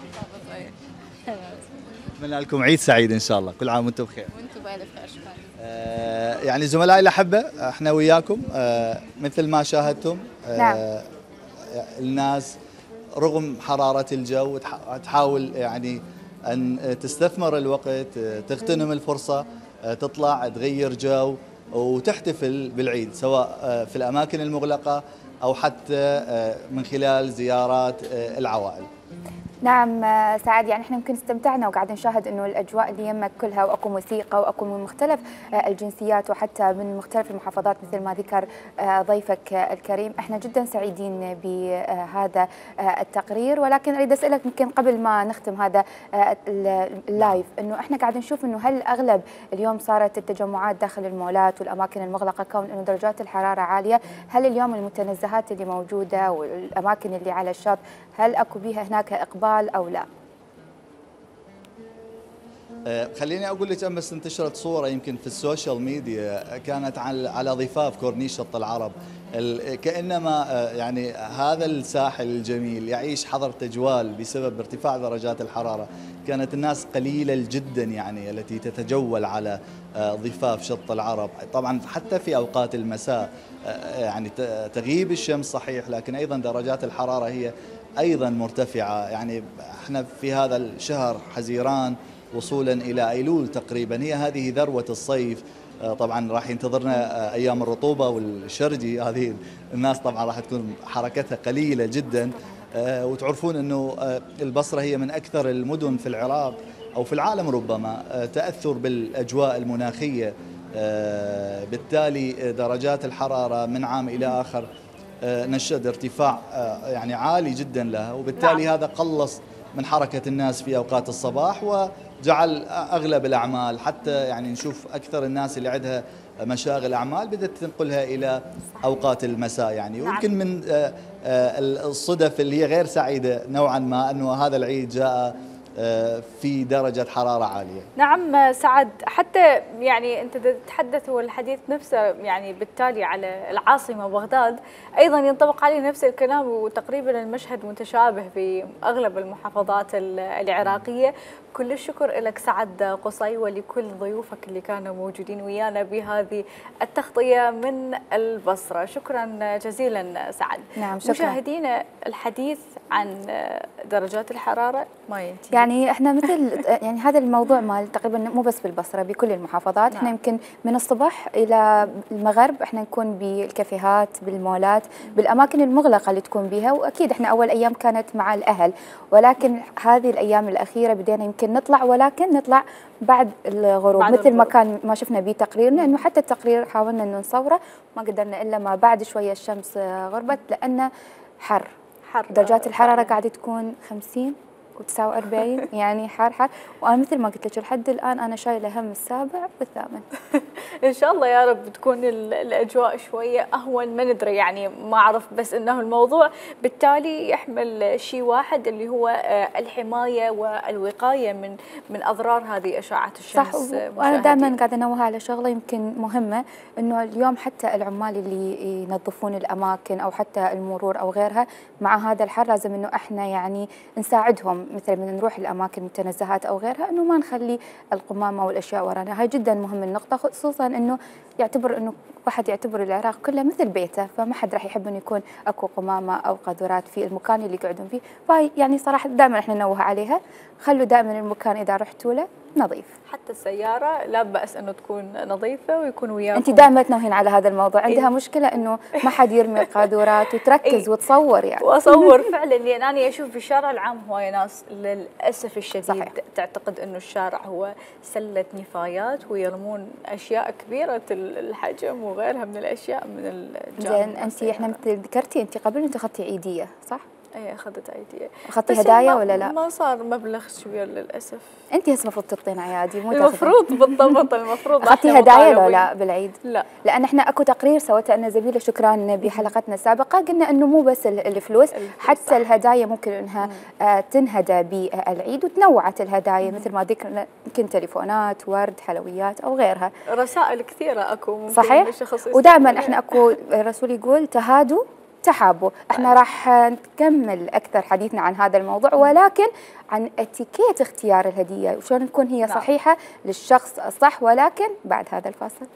اتمنى لكم عيد سعيد ان شاء الله. كل عام وانتم بخير. وانتم بالف خير. شكرا. يعني زملائي الاحبه، احنا وياكم مثل ما شاهدتم. نعم. الناس رغم حراره الجو تحاول يعني ان تستثمر الوقت، تغتنم الفرصه، تطلع تغير جو وتحتفل بالعيد، سواء في الاماكن المغلقه او حتى من خلال زيارات العوائل. نعم سعد، يعني احنا يمكن استمتعنا وقاعد نشاهد انه الاجواء اللي يمك كلها، واكو موسيقى واكو من مختلف الجنسيات وحتى من مختلف المحافظات مثل ما ذكر ضيفك الكريم. احنا جدا سعيدين بهذا التقرير، ولكن اريد اسالك يمكن قبل ما نختم هذا اللايف، انه احنا قاعد نشوف انه هل اغلب اليوم صارت التجمعات داخل المولات والاماكن المغلقه كون انه درجات الحراره عاليه، هل اليوم المتنزهات اللي موجوده والاماكن اللي على الشاطئ هل اكو بها هناك اقبال أو لا؟ خليني أقول لك أمس انتشرت صورة يمكن في السوشيال ميديا كانت على ضفاف كورنيش شط العرب، كأنما يعني هذا الساحل الجميل يعيش حظر تجوال بسبب ارتفاع درجات الحرارة. كانت الناس قليلة جدا يعني التي تتجول على ضفاف شط العرب، طبعا حتى في أوقات المساء يعني تغيب الشمس صحيح، لكن أيضا درجات الحرارة هي أيضا مرتفعة. يعني احنا في هذا الشهر حزيران وصولا إلى أيلول تقريبا، هي هذه ذروة الصيف. طبعا راح ينتظرنا أيام الرطوبة والشرجي، هذه الناس طبعا راح تكون حركتها قليلة جدا. وتعرفون أنه البصرة هي من أكثر المدن في العراق أو في العالم ربما تأثر بالأجواء المناخية، بالتالي درجات الحرارة من عام إلى آخر نشهد ارتفاع يعني عالي جدا لها، وبالتالي هذا قلص من حركة الناس في أوقات الصباح وجعل أغلب الأعمال، حتى يعني نشوف أكثر الناس اللي عندها مشاغل أعمال بدأت تنقلها إلى أوقات المساء يعني. ويمكن من الصدف اللي هي غير سعيدة نوعا ما أنه هذا العيد جاء في درجة حرارة عالية. نعم سعد، حتى يعني أنت تتحدث والحديث نفسه يعني بالتالي على العاصمة بغداد أيضا ينطبق عليه نفس الكلام، وتقريبا المشهد متشابه في أغلب المحافظات العراقية. كل الشكر لك سعد قصي ولكل ضيوفك اللي كانوا موجودين ويانا بهذه التغطية من البصرة. شكرا جزيلا سعد. نعم شكرا. مشاهدينا الحديث عن درجات الحرارة ما ينتهي، يعني احنا مثل يعني هذا الموضوع مال تقريبا مو بس بالبصرة، بكل المحافظات. احنا يمكن من الصباح إلى المغرب احنا نكون بالكافيهات، بالمولات، بالأماكن المغلقة اللي تكون بها. وأكيد احنا أول أيام كانت مع الأهل، ولكن هذه الأيام الأخيرة بدينا يمكن نطلع، ولكن نطلع بعد الغروب مثل ما كان ما شفنا به تقريرنا، انه حتى التقرير حاولنا انه نصوره ما قدرنا الا ما بعد شويه الشمس غربت، لانه حر درجات الحراره قاعده تكون 50 و49 يعني حر. وانا مثل ما قلت لك لحد الان انا شايله هم السابع والثامن. ان شاء الله يا رب تكون الاجواء شويه اهون، ما ندري يعني ما اعرف، بس انه الموضوع بالتالي يحمل شيء واحد اللي هو الحمايه والوقايه من اضرار هذه اشعه الشمس. صح. وانا دائما قاعده انوه على شغله يمكن مهمه، انه اليوم حتى العمال اللي ينظفون الاماكن او حتى المرور او غيرها مع هذا الحر لازم انه احنا يعني نساعدهم، مثل من نروح الاماكن المتنزهات او غيرها انه ما نخلي القمامه والاشياء ورانا. هاي جدا مهم النقطه، خصوصا انه يعتبر انه واحد يعتبر العراق كله مثل بيته، فما حد راح يحب انه يكون اكو قمامه او قاذورات في المكان اللي يقعدون فيه. فهي يعني صراحه دائما احنا ننوه عليها، خلوا دائما المكان اذا رحتوا له نظيف. حتى السياره لا باس انه تكون نظيفه ويكون وياكم. انت دائما تنوهين على هذا الموضوع، عندها مشكله انه ما حد يرمي قاذورات وتركز وتصور يعني. واصور فعلا، لان انا اشوف في الشارع العام هوايه ناس للاسف الشديد صحيح. تعتقد انه الشارع هو سله نفايات ويرمون اشياء كبيره الحجم وغيرها من الاشياء من الجانب. زين انت احنا مثل ذكرتي انت قبل انت اخذتي عيديه صح؟ اي اخذت عيديه. اخذتي هدايا ولا لا؟ ما صار مبلغ كبير للاسف. انت هسه المفروض تعطين عيادي مو المفروض بالضبط المفروض. اخذتي هدايا ولا لا بالعيد؟ لا، لان احنا اكو تقرير سوته انا زميله شكران بحلقتنا السابقه، قلنا انه مو بس الفلوس حتى الهدايا ممكن انها تنهدى بالعيد، وتنوعت الهدايا مثل ما ذكرنا يمكن تليفونات، ورد، حلويات او غيرها. رسائل كثيره اكو ممكن صحيح. ودائما احنا اكو الرسول يقول تهادوا تحابوا. احنا راح نكمل اكثر حديثنا عن هذا الموضوع، ولكن عن اتيكيت اختيار الهديه وشلون تكون هي صحيحه للشخص الصح، ولكن بعد هذا الفاصل.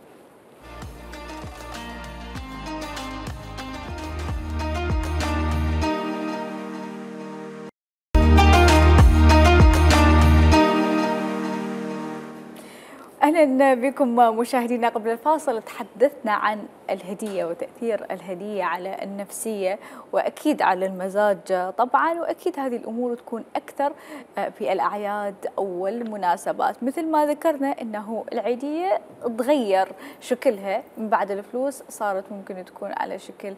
أهلا أهلا بكم مشاهدينا. قبل الفاصل تحدثنا عن الهدية وتأثير الهدية على النفسية وأكيد على المزاج طبعا، وأكيد هذه الأمور تكون أكثر في الأعياد أو المناسبات. مثل ما ذكرنا أنه العيدية تغير شكلها من بعد الفلوس، صارت ممكن تكون على شكل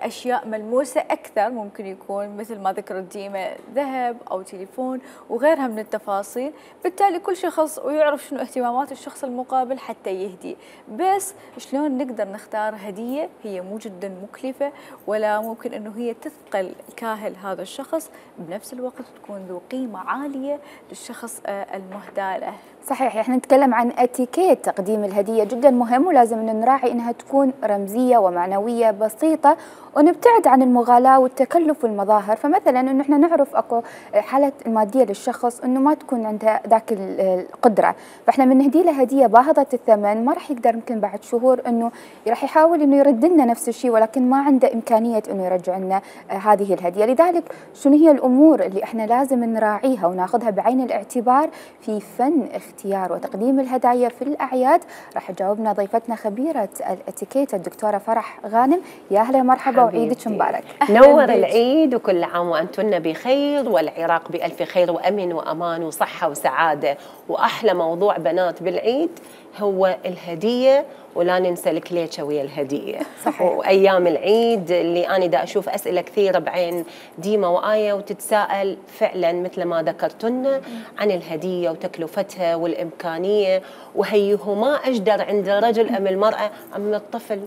أشياء ملموسة أكثر، ممكن يكون مثل ما ذكرت ديما ذهب أو تليفون وغيرها من التفاصيل. بالتالي كل شخص ويعرف شنو اهتمامات الشخص المقابل حتى يهدي. بس شلون نقدر نختار هدية هي مو جدا مكلفة ولا ممكن أنه هي تثقل كاهل هذا الشخص، بنفس الوقت تكون ذو قيمة عالية للشخص المهدى له. صحيح، احنا نتكلم عن اتيكيت تقديم الهدية، جدا مهم ولازم ان نراعي انها تكون رمزية ومعنوية بسيطة ونبتعد عن المغالاة والتكلف والمظاهر. فمثلا انه احنا نعرف اكو حالة المادية للشخص انه ما تكون عنده ذاك القدرة، فاحنا من نهدي له هدية باهظة الثمن ما راح يقدر يمكن بعد شهور انه راح يحاول انه يرد لنا نفس الشيء ولكن ما عنده امكانية انه يرجع لنا هذه الهدية. لذلك شنو هي الامور اللي احنا لازم نراعيها وناخذها بعين الاعتبار في فن اختيار وتقديم الهدايا في الأعياد؟ راح تجاوبنا ضيفتنا خبيرة الاتيكيت الدكتورة فرح غانم. يا أهلا ومرحبا وعيدك مبارك. نور العيد وكل عام وأنتن بخير والعراق بألف خير وأمن وأمان وصحة وسعادة. وأحلى موضوع بنات بالعيد هو الهدية، ولا ننسى الكليتشة ويا الهدية. صحيح. وأيام العيد اللي أنا دا أشوف أسئلة كثيرة بعين ديما وآية وتتساءل فعلا مثل ما ذكرتن عن الهدية وتكلفتها والإمكانية، وهي ما أجدر عند الرجل أم المرأة أم الطفل.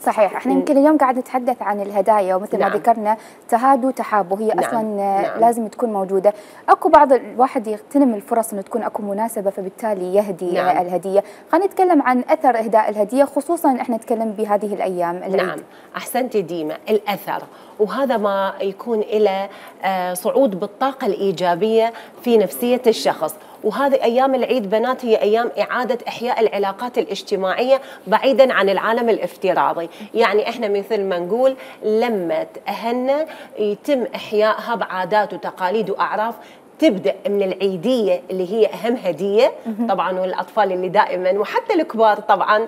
صحيح، احنا يمكن اليوم قاعد نتحدث عن الهدايا ومثل ما ذكرنا تهادوا تحابوا، هي اصلا لازم تكون موجوده. اكو بعض الواحد يغتنم الفرص انه تكون اكو مناسبه فبالتالي يهدي الهديه. خلينا نتكلم عن اثر اهداء الهديه، خصوصا احنا نتكلم بهذه الايام العيد. نعم، احسنتي ديما، الاثر، وهذا ما يكون إلى صعود بالطاقه الايجابيه في نفسيه الشخص. وهذه أيام العيد بنات هي أيام إعادة إحياء العلاقات الاجتماعية بعيداً عن العالم الافتراضي. يعني إحنا مثل ما نقول لما تأهلنا يتم إحيائها بعادات وتقاليد وأعراف، تبدأ من العيدية اللي هي أهم هدية طبعاً، والأطفال اللي دائماً وحتى الكبار طبعاً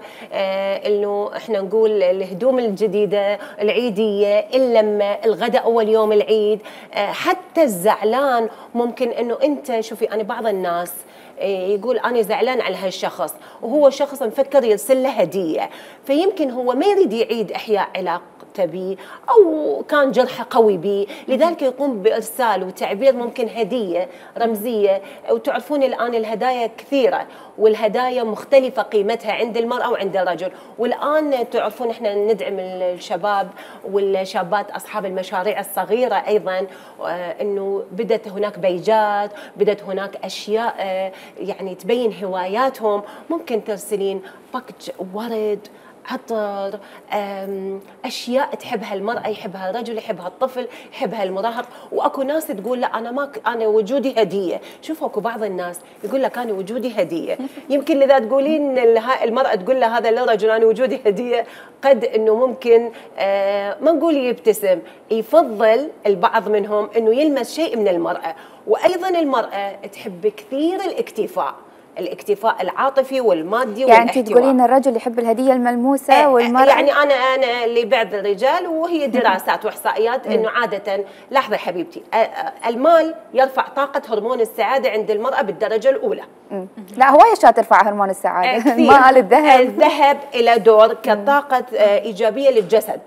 إنه إحنا نقول الهدوم الجديدة العيدية، اللمة، الغداء أول يوم العيد، حتى الزعلان ممكن إنه أنت شوفي، أنا بعض الناس يقول أنا زعلان على هالشخص وهو شخص مفكر يرسل له هدية، فيمكن هو ما يريد يعيد إحياء علاقته بي أو كان جرحه قوي بي، لذلك يقوم بإرسال وتعبير ممكن هدية رمزية. وتعرفون الآن الهدايا كثيرة والهدايا مختلفة قيمتها عند المرأة وعند الرجل. والآن تعرفون إحنا ندعم الشباب والشابات أصحاب المشاريع الصغيرة أيضا، إنه بدت هناك بيجات، بدت هناك أشياء يعني تبين هواياتهم. ممكن ترسلين باكج ورد، عطر، اشياء تحبها المراه يحبها الرجل يحبها الطفل يحبها المراهق. واكو ناس تقول لا انا وجودي هديه. شوفوا اكو بعض الناس يقول لك انا وجودي هديه. يمكن اذا تقولين المراه تقول له هذا للرجل انا وجودي هديه، قد انه ممكن ما نقول يبتسم، يفضل البعض منهم انه يلمس شيء من المراه. وايضا المراه تحب كثير الاكتفاء العاطفي والمادي يعني والاحتواء. انت تقولين الرجل يحب الهديه الملموسه والمراه يعني انا لبعض الرجال، وهي دراسات واحصائيات انه عاده، لحظه حبيبتي، المال يرفع طاقه هرمون السعاده عند المراه بالدرجه الاولى. لا هوايه اشياء ترفع هرمون السعاده. المال، الذهب له دور كطاقه ايجابيه للجسد،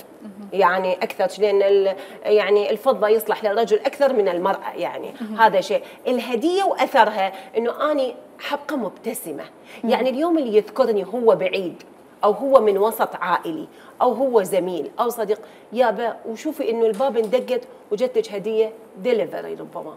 يعني اكثر، لان يعني الفضه يصلح للرجل اكثر من المراه، يعني هذا شيء. الهديه واثرها انه اني حبقه مبتسمه، يعني اليوم اللي يذكرني هو بعيد او هو من وسط عائلي او هو زميل او صديق، يابا وشوفي انه الباب اندقت وجتك هديه ديليفري، ربما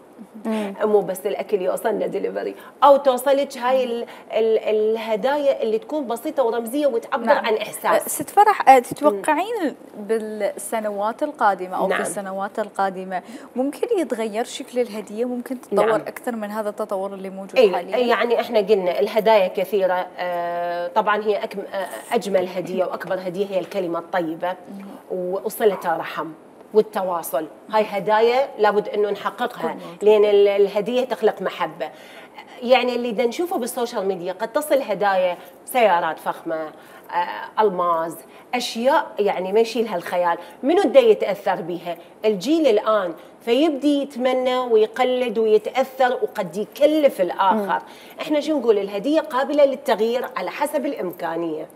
مو بس الاكل يوصلنا ديليفري، او توصلك هاي الهدايا اللي تكون بسيطه ورمزيه وتعبر عن احساس. ست فرح، تتوقعين بالسنوات القادمه او في السنوات القادمه ممكن يتغير شكل الهديه، ممكن تتطور اكثر من هذا التطور اللي موجود حاليا؟ يعني احنا قلنا الهدايا كثيره، طبعا هي اجمل هديه واكبر هديه هي الكلمه الطيبه وصله الرحم. والتواصل. هاي هدايا لابد انه نحققها، لان الهديه تخلق محبه. يعني اللي دا نشوفه بالسوشيال ميديا قد تصل هدايا سيارات فخمه، الماظ، اشياء يعني ما يشيلها الخيال. منو دا يتاثر بها؟ الجيل الان، فيبدي يتمنى ويقلد ويتاثر وقد يكلف الاخر. احنا شو نقول؟ الهديه قابله للتغيير على حسب الامكانيه.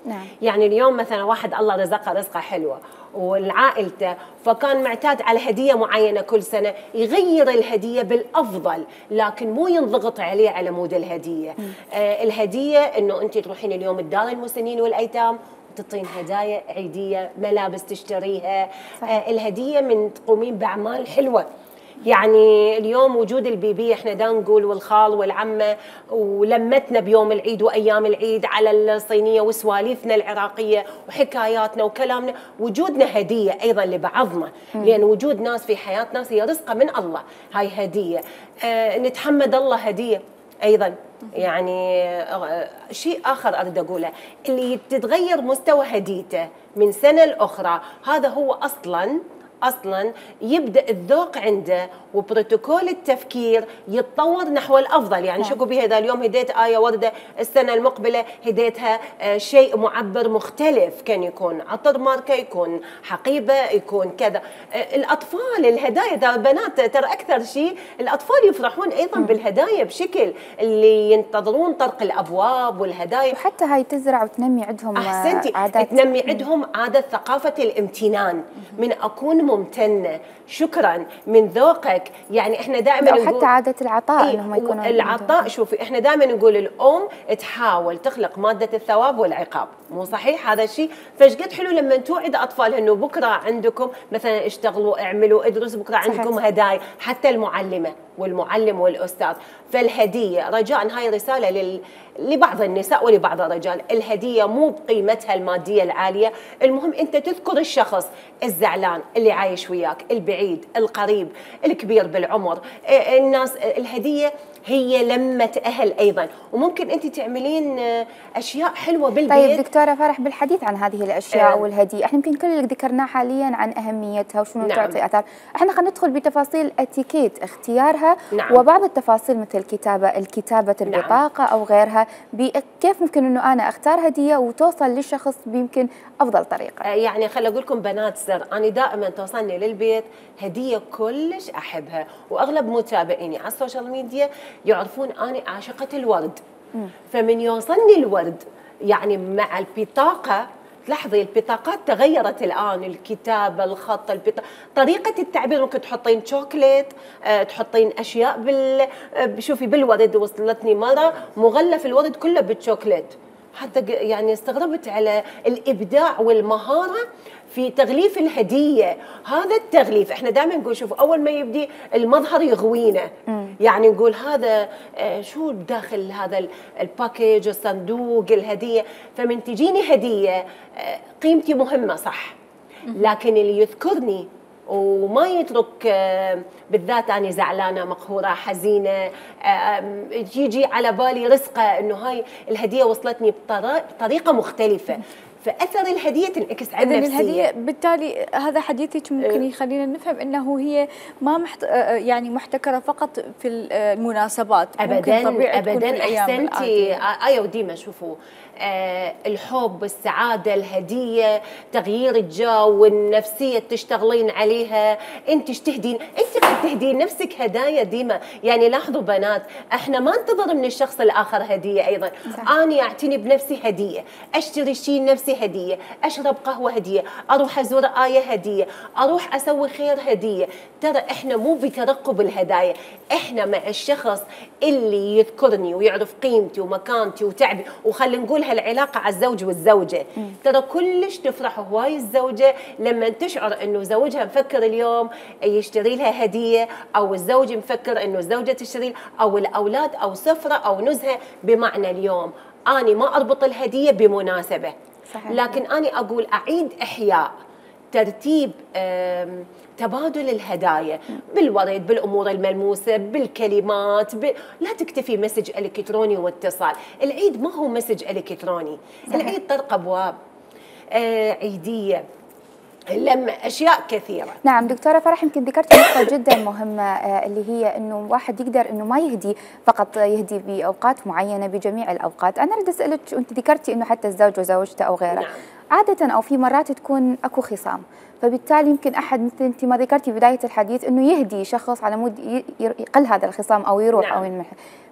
يعني اليوم مثلا واحد الله رزقه رزقه حلوه والعائلته، فكان معتاد على هديه معينه كل سنه، يغير الهديه بالافضل، لكن مو ينضغط عليه على مود الهديه. الهديه انه انت تروحين اليوم الدار المسنين والايتام تعطين هدايا عيديه، ملابس تشتريها. الهديه من تقومين باعمال حلوه. يعني اليوم وجود البيبي احنا دا نقول والخال والعمه ولمتنا بيوم العيد وايام العيد على الصينيه وسواليفنا العراقيه وحكاياتنا وكلامنا، وجودنا هديه ايضا لبعضنا، لان وجود ناس في حياتنا هي رزقه من الله، هاي هديه. نتحمد الله هديه ايضا. يعني شيء اخر اريد اقوله، اللي تتغير مستوى هديته من سنه لاخرى، هذا هو اصلا يبدا الذوق عنده وبروتوكول التفكير يتطور نحو الافضل. يعني شكو بها ذا اليوم هديت ايه ورده، السنه المقبله هديتها شيء معبر مختلف، كان يكون عطر ماركه، يكون حقيبه، يكون كذا. الاطفال الهدايا ترى بنات ترى اكثر شيء الاطفال يفرحون ايضا بالهدايا بشكل اللي ينتظرون طرق الابواب والهدايا، وحتى هاي تزرع وتنمي عندهم عادات، تنمي عندهم عاده ثقافه الامتنان، من اكون ممتنه، شكرا، من ذوقك. يعني احنا دائما نقول حتى عاده العطاء، انهم يكونوا العطاء. شوفي احنا دائما نقول الام تحاول تخلق ماده الثواب والعقاب، مو صحيح هذا الشيء؟ فشقد حلو لما توعد اطفالها انه بكره عندكم مثلا اشتغلوا، اعملوا، ادرسوا، بكره عندكم هدايا، حتى المعلمه والمعلم والاستاذ. فالهديه رجاء، هاي رساله لبعض النساء ولبعض الرجال، الهديه مو بقيمتها الماديه العاليه، المهم انت تذكر الشخص الزعلان اللي عايش وياك، البعيد، القريب، الكبير بالعمر، الناس. الهديه هي لمة أهل أيضا، وممكن أنت تعملين أشياء حلوة بالبيت. طيب دكتورة فرح، بالحديث عن هذه الأشياء والهدية، احنا يمكن كل اللي ذكرناه حاليا عن أهميتها وشنو تعطي أثار، احنا خلينا ندخل بتفاصيل اتيكيت اختيارها وبعض التفاصيل مثل الكتابة البطاقة أو غيرها، كيف ممكن أنه أنا أختار هدية وتوصل للشخص بيمكن أفضل طريقة. يعني خلي أقول لكم بنات سر، أنا دائما توصلني للبيت هدية كلش أحبها، وأغلب متابعيني على السوشيال ميديا يعرفون أنا عاشقة الورد. فمن يوصلني الورد يعني مع البطاقة، تلاحظي البطاقات تغيرت الآن، الكتابة، الخط، طريقة التعبير. ممكن تحطين شوكليت، تحطين أشياء شوفي بالورد. وصلتني مرة مغلف الورد كله بالشوكليت، حتى يعني استغربت على الإبداع والمهارة في تغليف الهدية. هذا التغليف احنا دائما نقول شوف أول ما يبدي المظهر يغوينا، يعني نقول هذا شو داخل هذا الباكيج، الصندوق، الهدية. فمن تجيني هدية قيمتي مهمة صح، لكن اللي يذكرني وما يترك، بالذات أنا زعلانة، مقهورة، حزينة، يجي على بالي رزقة إنه هاي الهدية وصلتني بطريقة مختلفة، فأثر الهدية تنعكس على نفسية. الهدية بالتالي هذا حديثك ممكن يخلينا نفهم أنه هي ما يعني محتكرة فقط في المناسبات، أبداً أحسنتي. آية وديما شوفوا الحب، السعادة، الهدية، تغيير الجو والنفسية تشتغلين عليها. انت قد تهدين نفسك هدايا ديما. يعني لاحظوا بنات، احنا ما ننتظر من الشخص الآخر هدية أيضا. أنا أعتني بنفسي هدية، أشتري شيء لنفسي هدية، أشرب قهوة هدية، أروح أزور آية هدية، أروح أسوي خير هدية. ترى احنا مو بترقب الهدايا، احنا مع الشخص اللي يذكرني ويعرف قيمتي ومكانتي وتعبي. وخلي نقول هالعلاقة على الزوج والزوجة، ترى كلش تفرح هواي الزوجة لما تشعر انه زوجها مفكر اليوم يشتري لها هدية، او الزوج مفكر انه الزوجة تشتري، او الاولاد، او سفرة او نزهة. بمعنى اليوم أنا ما اربط الهدية بمناسبة، لكن أنا اقول اعيد احياء ترتيب تبادل الهدايا بالورد، بالامور الملموسه، بالكلمات، لا تكتفي مسج الكتروني واتصال. العيد ما هو مسج الكتروني، العيد طرق ابواب عيديه، لما اشياء كثيره. نعم دكتوره فرح، يمكن ذكرتي نقطه جدا مهمه اللي هي انه واحد يقدر انه ما يهدي فقط، يهدي باوقات معينه بجميع الاوقات. انا اريد اسالك، انت ذكرتي انه حتى الزوج وزوجته او غيره، نعم. عاده او في مرات تكون اكو خصام، فبالتالي يمكن احد مثل انت ما ذكرتي في بدايه الحديث انه يهدي شخص على مود يقل هذا الخصام او يروح، نعم. او ينمح.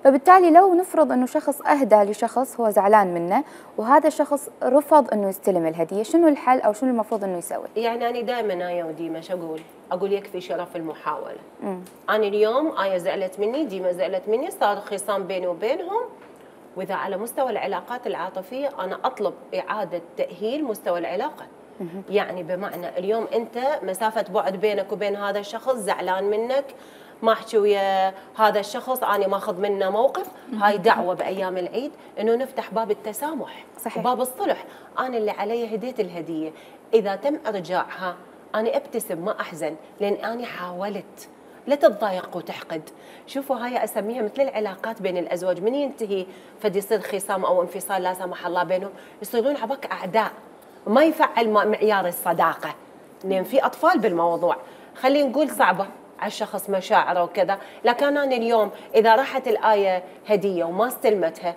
فبالتالي لو نفرض انه شخص اهدى لشخص هو زعلان منه وهذا الشخص رفض انه يستلم الهديه، شنو الحل او شنو المفروض انه يسوي؟ يعني انا دائما ايه وديما شو اقول يكفي شرف المحاوله. انا اليوم ايه زعلت مني، ديما زعلت مني، صار خصام بيني وبينهم، واذا على مستوى العلاقات العاطفيه انا اطلب اعاده تاهيل مستوى العلاقه. يعني بمعنى اليوم انت مسافه بعد بينك وبين هذا الشخص، زعلان منك، ما احكي ويا هذا الشخص، انا ماخذ منه موقف، هاي دعوه بايام العيد انه نفتح باب التسامح، صحيح. وباب الصلح. انا اللي علي هديت الهديه، اذا تم ارجاعها انا ابتسم ما احزن، لان انا حاولت. لا تتضايق وتحقد. شوفوا هاي اسميها مثل العلاقات بين الازواج، من ينتهي فد يصير خصام او انفصال لا سمح الله بينهم، يصيرون عباك اعداء، ما يفعل معيار الصداقه، لان في اطفال بالموضوع. خلينا نقول صعبه على الشخص مشاعره وكذا، لكن انا اليوم اذا راحت الايه هديه وما استلمتها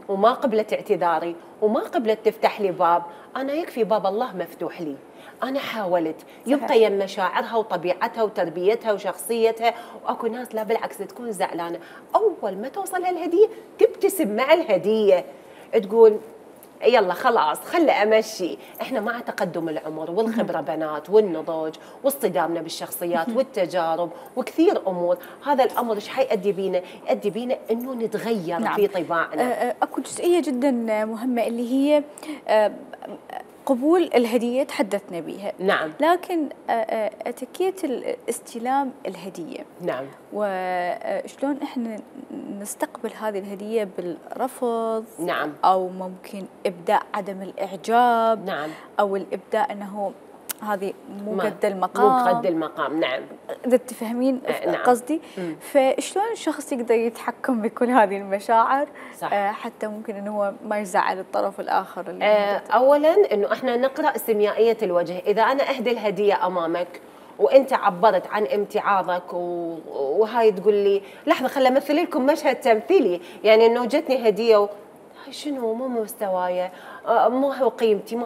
وما قبلت اعتذاري وما قبلت تفتح لي باب، انا يكفي باب الله مفتوح لي. انا حاولت، يبقى يم مشاعرها وطبيعتها وتربيتها وشخصيتها، واكو ناس لا بالعكس تكون زعلانه، اول ما توصلها الهديه تبتسم مع الهديه، تقول يلا خلاص خلي امشي. احنا مع تقدم العمر والخبره بنات والنضوج واصطدامنا بالشخصيات والتجارب وكثير امور، هذا الامر ايش حيؤدي بينا؟ يؤدي بينا انه نتغير، نعم. في طباعنا. اكو جزئيه جدا مهمه اللي هي قبول الهديه تحدثنا بها، نعم. لكن اتيكيت استلام الهديه، نعم. وشلون احنا نستقبل هذه الهديه بالرفض، نعم. او ممكن ابداء عدم الاعجاب، نعم. او الابداء انه هذه مو قد المقام، مو قد المقام، نعم. اذا تفهمين قصدي. فشلون الشخص يقدر يتحكم بكل هذه المشاعر، صح. حتى ممكن انه هو ما يزعل الطرف الاخر. اولا انه احنا نقرا سيميائيه الوجه. اذا انا اهدي الهديه امامك وانت عبرت عن امتعاضك وهاي تقول لي لحظه خليني امثل لكم مشهد تمثيلي، يعني انه جتني هديه هاي شنو مو مستوايا، مو هو قيمتي،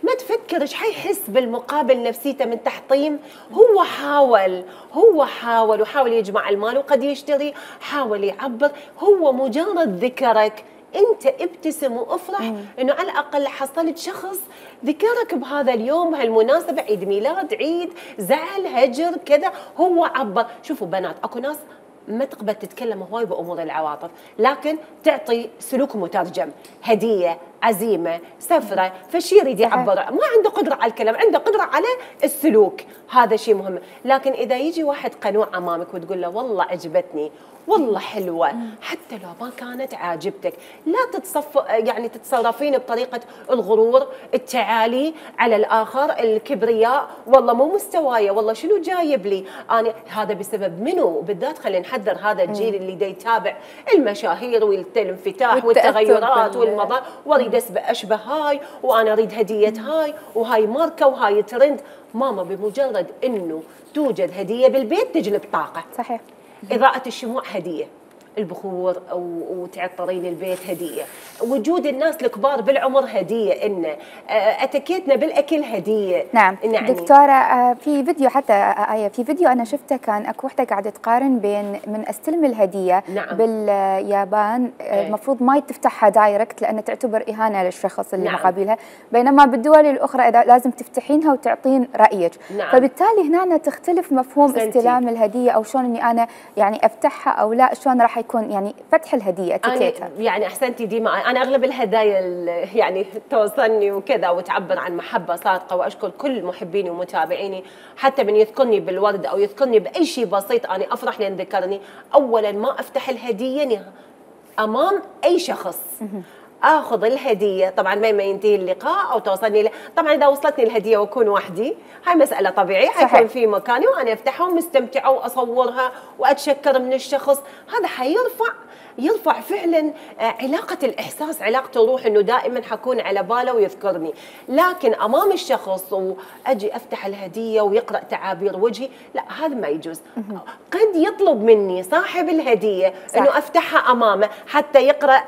ما تفكر ايش حيحس بالمقابل نفسيته من تحطيم. هو حاول وحاول يجمع المال وقد يشتري، حاول يعبر، هو مجرد ذكرك انت ابتسم وافرح انه على الاقل حصلت شخص ذكرك بهذا اليوم، بهالمناسبه، عيد ميلاد، عيد، زعل، هجر، كذا، هو عبر. شوفوا بنات، اكو ناس ما تقبل تتكلم هواي بامور العواطف، لكن تعطي سلوك مترجم، هديه، عزيمه، سفره، فشي يريد يعبر، ما عنده قدره على الكلام، عنده قدره على السلوك، هذا شيء مهم. لكن اذا يجي واحد قنوع امامك وتقول له والله عجبتني، والله حلوه، حتى لو ما كانت عاجبتك، لا يعني تتصرفين بطريقه الغرور، التعالي على الاخر، الكبرياء، والله مو مستوايه، والله شنو جايب لي انا، هذا بسبب منو؟ بالذات خلينا نحذر هذا الجيل اللي دا يتابع المشاهير والانفتاح والتغيرات والمظاهر، واريد اشبه هاي، وانا اريد هديه هاي، وهاي ماركه، وهاي ترند. ماما بمجرد انه توجد هديه بالبيت تجلب طاقه، صحيح. إضاءة الشموع هدية، البخور وتعطرين البيت هدية، وجود الناس الكبار بالعمر هدية، إن أتكيتنا بالأكل هدية. نعم. دكتورة، في فيديو حتى في فيديو أنا شفته، كان أكو وحدة قاعدة تقارن بين من أستلم الهدية، نعم. باليابان المفروض ما تفتحها دايركت لأن تعتبر إهانة للشخص اللي مقابلها، بينما بالدول الأخرى إذا لازم تفتحينها وتعطين رأيك، نعم. فبالتالي هنا تختلف مفهوم استلام الهدية، أو شلون إني أنا يعني أفتحها أو لا، شلون راح يكون يعني فتح الهديه اتيكيتها. يعني احسنتي ديما، انا اغلب الهدايا يعني توصلني وكذا وتعبر عن محبه صادقه، واشكر كل محبيني ومتابعيني، حتى من يذكرني بالورد او يذكرني باي شيء بسيط انا افرح لان ذكرني. اولا ما افتح الهديه امام اي شخص، اخذ الهديه، طبعا ما ينتهي اللقاء او توصلني طبعا اذا وصلتني الهديه واكون وحدي هاي مساله طبيعيه، حيكون في مكاني وانا افتحها ومستمتعه واصورها واتشكر من الشخص، هذا يرفع فعلا علاقة الإحساس، علاقة الروح، إنه دائما حكون على باله ويذكرني. لكن أمام الشخص وأجي أفتح الهدية ويقرأ تعابير وجهي، لا هذا ما يجوز. قد يطلب مني صاحب الهدية إنه أفتحها أمامه حتى يقرأ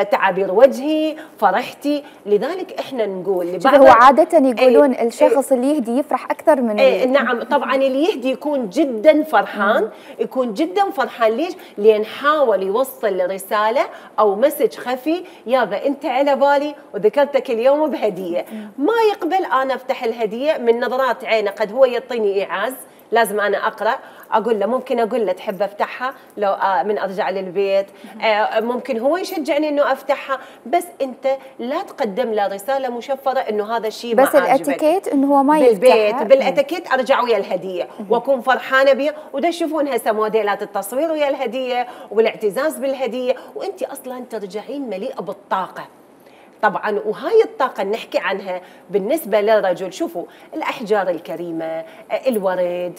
تعابير وجهي، فرحتي. لذلك إحنا نقول هو عادة يقولون الشخص اللي يهدي يفرح أكثر من نعم طبعا اللي يهدي يكون جدا فرحان، يكون جدا فرحان. ليش؟ لأن حاول يوصل رسالة أو مسج خفي، يابا أنت على بالي وذكرتك اليوم بهدية. ما يقبل أنا أفتح الهدية من نظرات عينه، قد هو يعطيني إيعاز لازم أنا أقرأ، أقول له ممكن أقول له تحب أفتحها لو من أرجع للبيت، ممكن هو يشجعني إنه أفتحها، بس أنت لا تقدم له رسالة مشفرة إنه هذا الشيء ما عاجبك. بس الأتيكيت إنه هو ما يفتحها بالأتيكيت أرجع ويا الهدية وأكون فرحانة بيها. وده تشوفون هسه موديلات التصوير ويا الهدية والاعتزاز بالهدية، وأنت أصلا ترجعين مليئة بالطاقة. طبعا وهاي الطاقة نحكي عنها بالنسبة للرجل، شوفوا الأحجار الكريمة، الورد،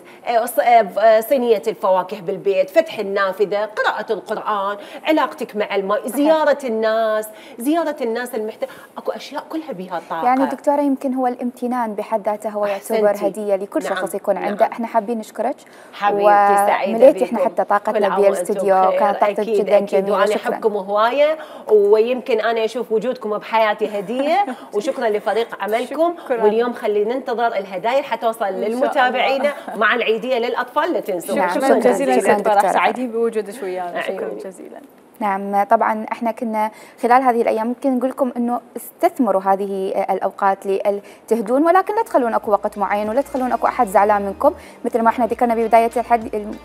صينية الفواكه بالبيت، فتح النافذة، قراءة القرآن، علاقتك مع الماء، زيارة الناس المحتاج، اكو أشياء كلها بها طاقة. يعني دكتورة يمكن هو الامتنان بحد ذاته هو يعتبر هدية لكل شخص يكون عنده. احنا حابين نشكرك حبيبتي، سعيدة ومليتي احنا حتى طاقتنا بالاستديو، كانت طاقتك جدا جميلة. وأنا أحبكم هواية، ويمكن أنا أشوف وجودكم بحياتي هدية، وشكرا لفريق عملكم. واليوم خلينا ننتظر الهدايا حتوصل للمتابعين مع العيدية للأطفال، لا تنسوا. شكرا جزيلا دكتورة، سعيدين بوجودك ويانا، شكرا جزيلا. نعم طبعا احنا كنا خلال هذه الايام ممكن نقول لكم انه استثمروا هذه الاوقات لتهدون، ولكن لا تخلون اكو وقت معين ولا تخلون اكو احد زعلان منكم. مثل ما احنا ذكرنا ببدايه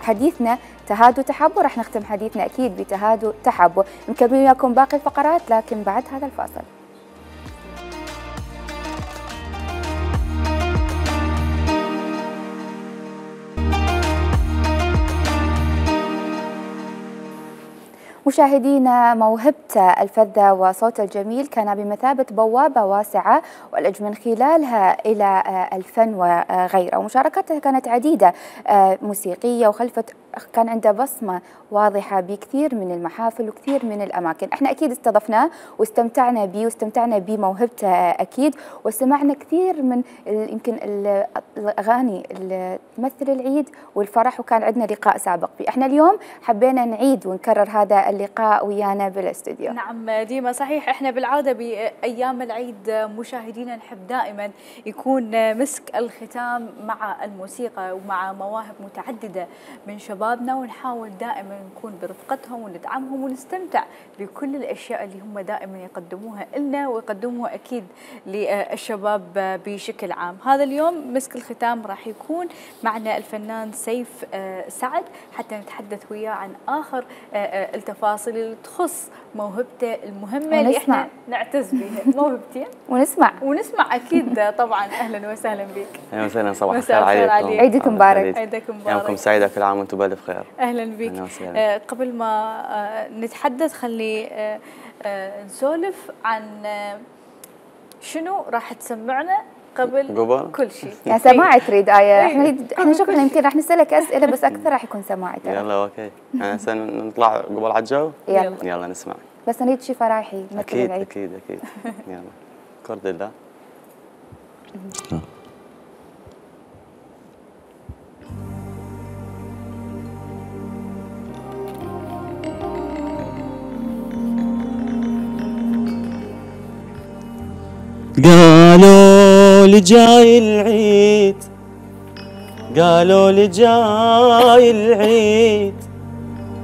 حديثنا تهادوا تحبوا، راح نختم حديثنا اكيد بتهادوا تحبوا. نكمل وياكم باقي الفقرات لكن بعد هذا الفاصل. مشاهدينا، موهبة الفذة وصوت الجميل كان بمثابة بوابة واسعة ولج من خلالها إلى الفن وغيره، ومشاركاتها كانت عديدة موسيقية، وخلفت كان عنده بصمة واضحة بكثير من المحافل وكثير من الأماكن. احنا أكيد استضفناه واستمتعنا به واستمتعنا بموهبته أكيد، وسمعنا كثير من يمكن الأغاني اللي تمثل العيد والفرح، وكان عندنا لقاء سابق فيه. احنا اليوم حبينا نعيد ونكرر هذا اللقاء ويانا بالاستوديو. نعم ديما صحيح، احنا بالعادة بأيام العيد مشاهدينا نحب دائما يكون مسك الختام مع الموسيقى ومع مواهب متعددة من شبابنا، ونحاول دائما نكون برفقتهم وندعمهم ونستمتع بكل الأشياء اللي هم دائما يقدموها لنا ويقدموها أكيد للشباب بشكل عام. هذا اليوم مسك الختام راح يكون معنا الفنان سيف سعد حتى نتحدث وياه عن آخر التفاصيل اللي تخص موهبته المهمة اللي احنا نعتز بها. موهبتين ونسمع أكيد طبعا. أهلا وسهلا بك. أهلا وسهلا، صباح الخير عليكم. عيدك مبارك. عيدك مبارك. يومكم سعيد، كل عام وانتم بألف خير. أهلا بك. قبل ما نتحدث خلي نسولف عن شنو راح تسمعنا قبل كل شيء. يعني سماعي تريد آية؟ احنا شوفنا يمكن راح نسألك أسئلة بس أكثر راح يكون سماعي. يلا اوكي، نطلع قبل على الجو. يلا نسمع. بس نريد شيء فرايحي مثل أكيد العيد. أكيد يلا كرد الله. قالوا لي جاي العيد، قالوا لي جاي العيد،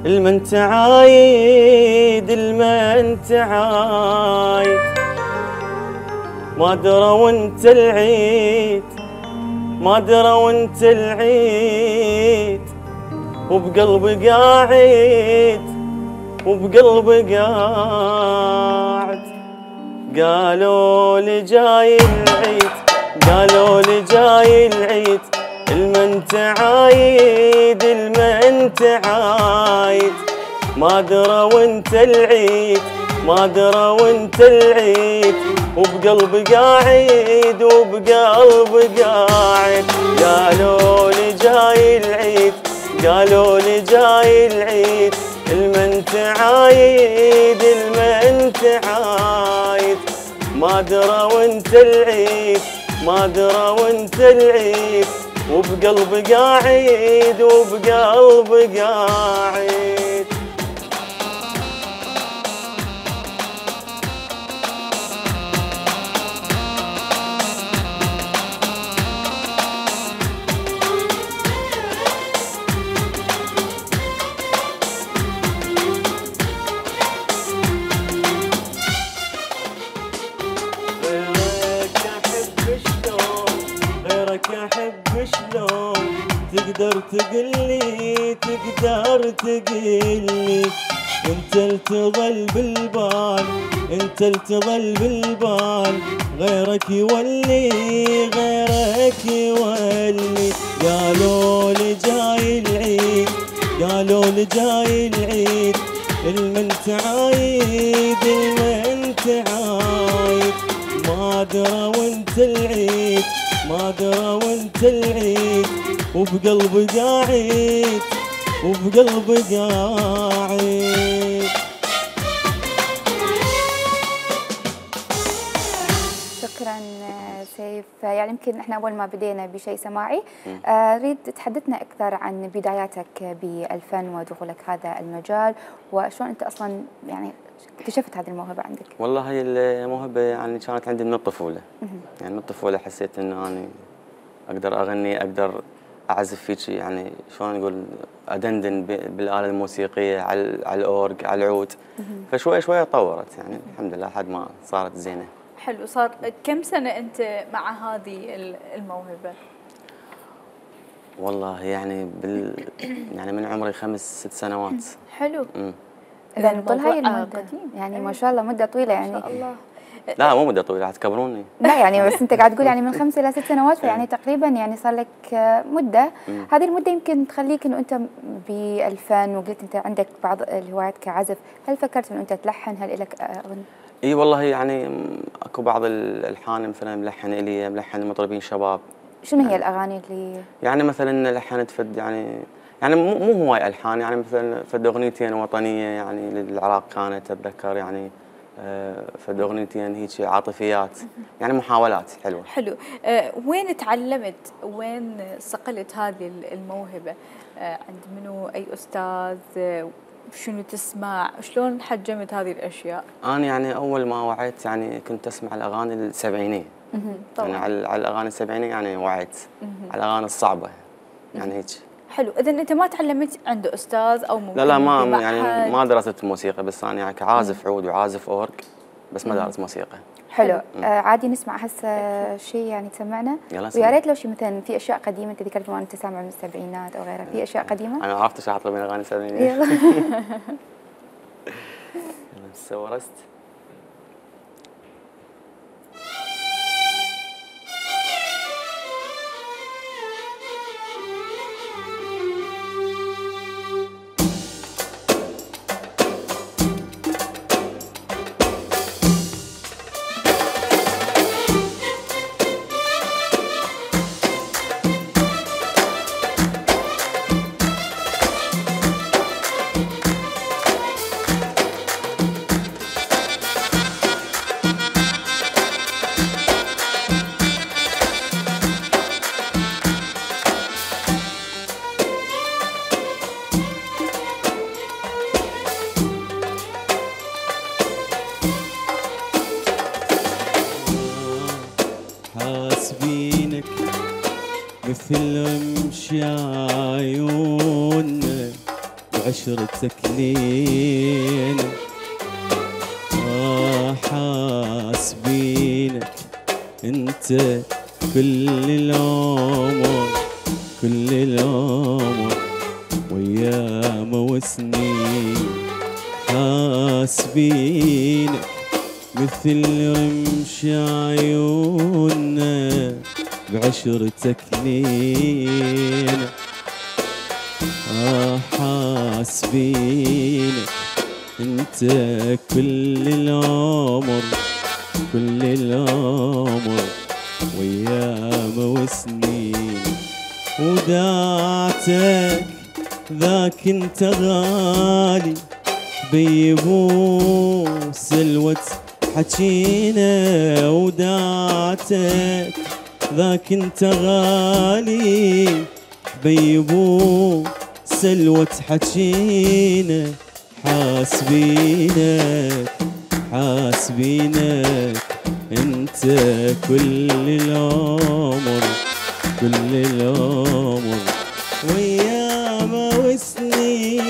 المن تعايد المن تعايد، ما دروا انت العيد، ما دروا انت العيد، وبقلبي قاعد، وبقلبي قاعد. قالوا لي جاي العيد، قالوا لي جاي العيد، المن تعايد، المن تعايد، ما دروا انت العيد، ما درى وانت العيد وبقلبي قاعد وبقلبي قاعد. قالوا لي جاي العيد قالوا لي جاي العيد المنت عايد المنت عايد. ما درى وانت العيد ما درى وانت العيد وبقلبي قاعد وبقلبي قاعد. تقدر تقلي تقدر تقلي انت تظل بالبال انت تظل بالبال غيرك يولي غيرك يولي. قالوا لي جاي العيد قالوا لي جاي العيد المنت عايد المنت عايد. ما درى وانت العيد ما درى وانت العيد وبقلبي قاعد وبقلبي قاعد. شكرا سيف. يعني يمكن احنا اول ما بدينا بشيء سماعي اريد تحدثنا اكثر عن بداياتك بالفن ودخولك هذا المجال وشلون انت اصلا يعني اكتشفت هذه الموهبه عندك. والله هي الموهبه يعني كانت عندي من الطفوله. يعني من الطفوله حسيت انه انا اقدر اغني اقدر اعزف فيك يعني شلون نقول ادندن بالاله الموسيقيه على الاورج على العود. فشوي شوي تطورت يعني الحمد لله لحد ما صارت زينه. حلو. صار كم سنه انت مع هذه الموهبه؟ والله يعني يعني من عمري 5 6 سنوات. حلو. اذا طول هاي المده يعني ما شاء الله مده طويله يعني. ما شاء الله. لا مو مده طويله تكبروني. لا يعني بس انت قاعد تقول يعني من 5 إلى 6 سنوات فيعني تقريبا يعني صار لك مده. هذه المده يمكن تخليك انه انت بالفن وقلت انت عندك بعض الهوايات كعزف، هل فكرت انه انت تلحن؟ هل لك اغنيه؟ اي والله يعني اكو بعض الالحان مثلا ملحن الي ملحن مطربين شباب. شنو هي الاغاني اللي يعني مثلا لحنت فد يعني مو هواي الحان يعني مثلا فد اغنيتين وطنيه يعني للعراق كانت اتذكر يعني فد اغنيتين هيك عاطفيات يعني محاولات حلوه. حلو. وين تعلمت وين صقلت هذه الموهبه؟ عند منو اي استاذ؟ شنو تسمع؟ شلون حجمت هذه الاشياء؟ انا يعني اول ما وعيت يعني كنت اسمع الاغاني السبعينيه. يعني على الاغاني السبعينيه يعني وعيت على الاغاني الصعبه يعني هيك. حلو. اذا انت ما تعلمت عند استاذ او ممكن لا ما يعني ما درست موسيقى بس انا يعني كعازف عود وعازف اورج بس ما دارس موسيقى. حلو. عادي نسمع هسه شيء يعني تسمعنا ويا ريت لو شيء مثلا في اشياء قديمه انت ذكرت انت سامع من السبعينات او غيرها، في اشياء قديمه؟ انا عرفت ايش اطلب من اغاني السبعينات. يلا. سورست حاسبينك مثل رمش عيوننا وعشرتك لينا. حاسبينك انت كل العمر كل العمر وايام وسنين. حاسبينك مثل رمش عيوننا بعشرتك لينا. حاسبينك انت كل العمر كل العمر وايام وسنين وداعتك ذاك انت غالي بيبو سلوة حكينا وداعتك ذاك انت غالي بيبو سلوة حكينا حاسبينك حاسبينك انت كل العمر كل العمر وايام وسنين.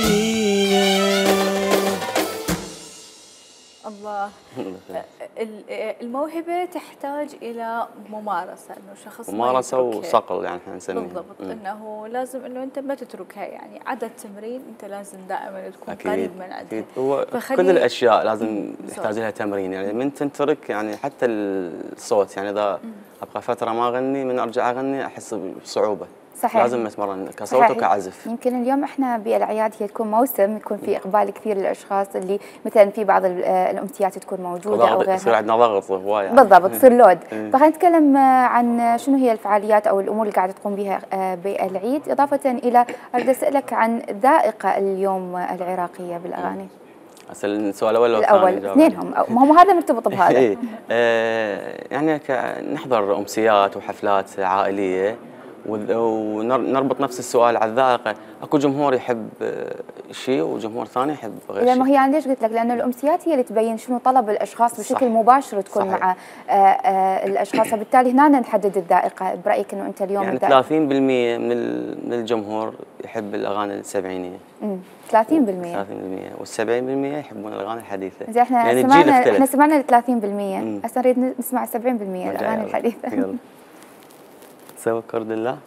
الله. الموهبة تحتاج إلى ممارسة، إنه شخص ممارسة وصقل يعني احنا نسميها. بالضبط، إنه لازم إنه أنت ما تتركها، يعني عدد تمرين أنت لازم دائما تكون قريب من عندها. أكيد. هو كل الأشياء لازم يحتاج لها تمرين، يعني من تترك يعني حتى الصوت، يعني إذا أبقى فترة ما أغني من أرجع أغني أحس بصعوبة. صحيح. لازم نتمرن كصوت وكعزف. يمكن اليوم احنا بالاعياد هي تكون موسم يكون في اقبال كثير للاشخاص اللي مثلا في بعض الامسيات تكون موجوده او غيرها. يصير عندنا ضغط هوايه يعني. بالضبط، تصير لود. فخلينا نتكلم عن شنو هي الفعاليات او الامور اللي قاعده تقوم بها بالعيد، اضافه الى اريد اسالك عن ذائقه اليوم العراقيه بالاغاني. هسه السؤال الاول الاول اثنينهم، ما هو هذا مرتبط بهذا. يعني نحضر امسيات وحفلات عائليه ونربط نفس السؤال على الذائقه، اكو جمهور يحب شيء وجمهور ثاني يحب غير شيء. لانه هي انا ليش قلت لك؟ لانه الامسيات هي اللي تبين شنو طلب الاشخاص بشكل مباشر تكون صحيح. مع الاشخاص، فبالتالي هنا نحدد الذائقه. برايك انه انت اليوم يعني 30% من الجمهور يحب الاغاني السبعينيه. 30% وال70% يحبون الاغاني الحديثه. زين احنا يعني احنا سمعنا ال 30%، هسه نريد نسمع 70% الاغاني الحديثه. يلا سوى كرد الله.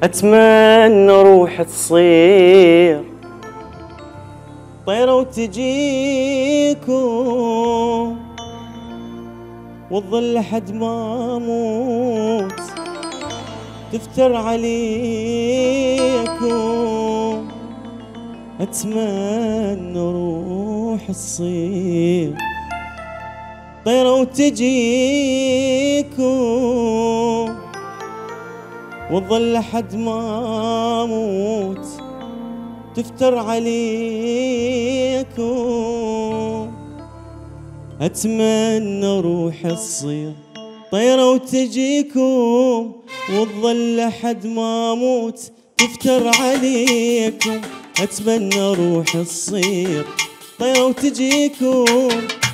أتمنى روح تصير طيرة وتجيكم وتظل لحد ما أموت تفتر عليكم. أتمنى روح تصير طيرة وتجيكم وتظل لحد ما أموت تفتر عليكم. أتمنى روح تصير طيرة وتجيكم وتظل لحد ما أموت تفتر عليكم. أتمنى روح تصير طيرة وتجيكم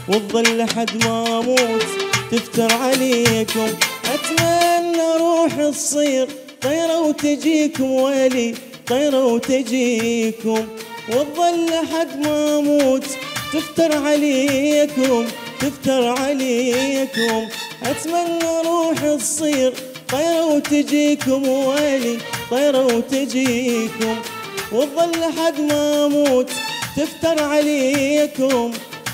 وتظل لحد ما أموت تفتر عليكم. أتمنى روح تصير طيرة وتجيكم ويلي طيرة وتجيكم وتظل لحد ما أموت تفتر عليكم تفتر عليكم. أتمنى روح تصير طيرة وتجيكم ويلي طيرة وتجيكم وتظل لحد ما أموت تفتر عليكم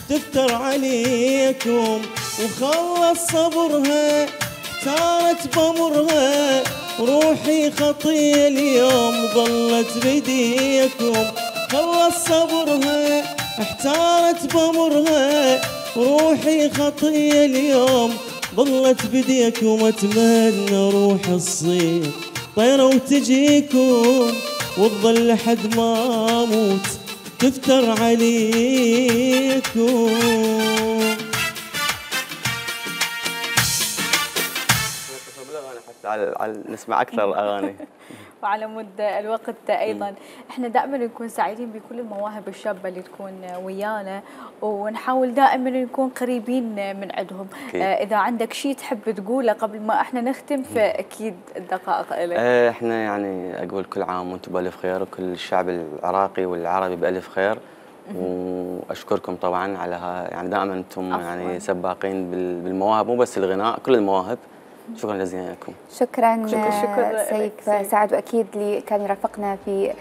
تفتر عليكم. وخلص صبرها احتارت بمرها روحي خطية اليوم ظلت بديكم. خلص صبرها احتارت بمرها روحي خطية اليوم ظلت بديكم. أتمنى روح تصير طيرة وتجيكم وتظل لحد ما أموت تفتر عليكم. على نسمع اكثر الاغاني. وعلى مد الوقت ايضا احنا دائما نكون سعيدين بكل المواهب الشابه اللي تكون ويانا ونحاول دائما نكون قريبين من عندهم. اذا عندك شيء تحب تقوله قبل ما احنا نختم فاكيد الدقائق لك. احنا يعني اقول كل عام وانتم بالف خير وكل الشعب العراقي والعربي بالف خير. واشكركم طبعا على يعني دائما انتم يعني سباقين بالمواهب، مو بس الغناء كل المواهب. شكرا جزيلا لكم. شكرا سيف سعد، واكيد اللي كان يرافقنا في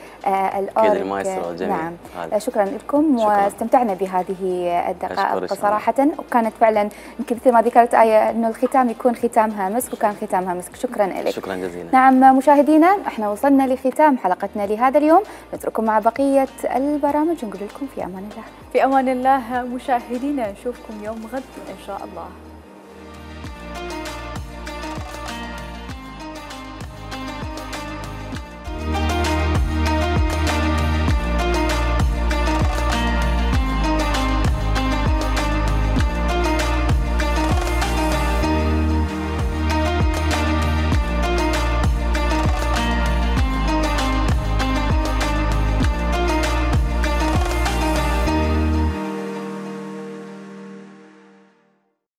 الأورك. نعم شكرا لكم، واستمتعنا بهذه الدقائق صراحه، وكانت فعلا يمكن مثل ما ذكرت آية انه الختام يكون ختامها مسك، وكان ختامها مسك. شكرا لك. شكرا جزيلا. نعم مشاهدينا، احنا وصلنا لختام حلقتنا لهذا اليوم، نترككم مع بقيه البرامج، نقول لكم في امان الله. في امان الله مشاهدينا، نشوفكم يوم غد ان شاء الله.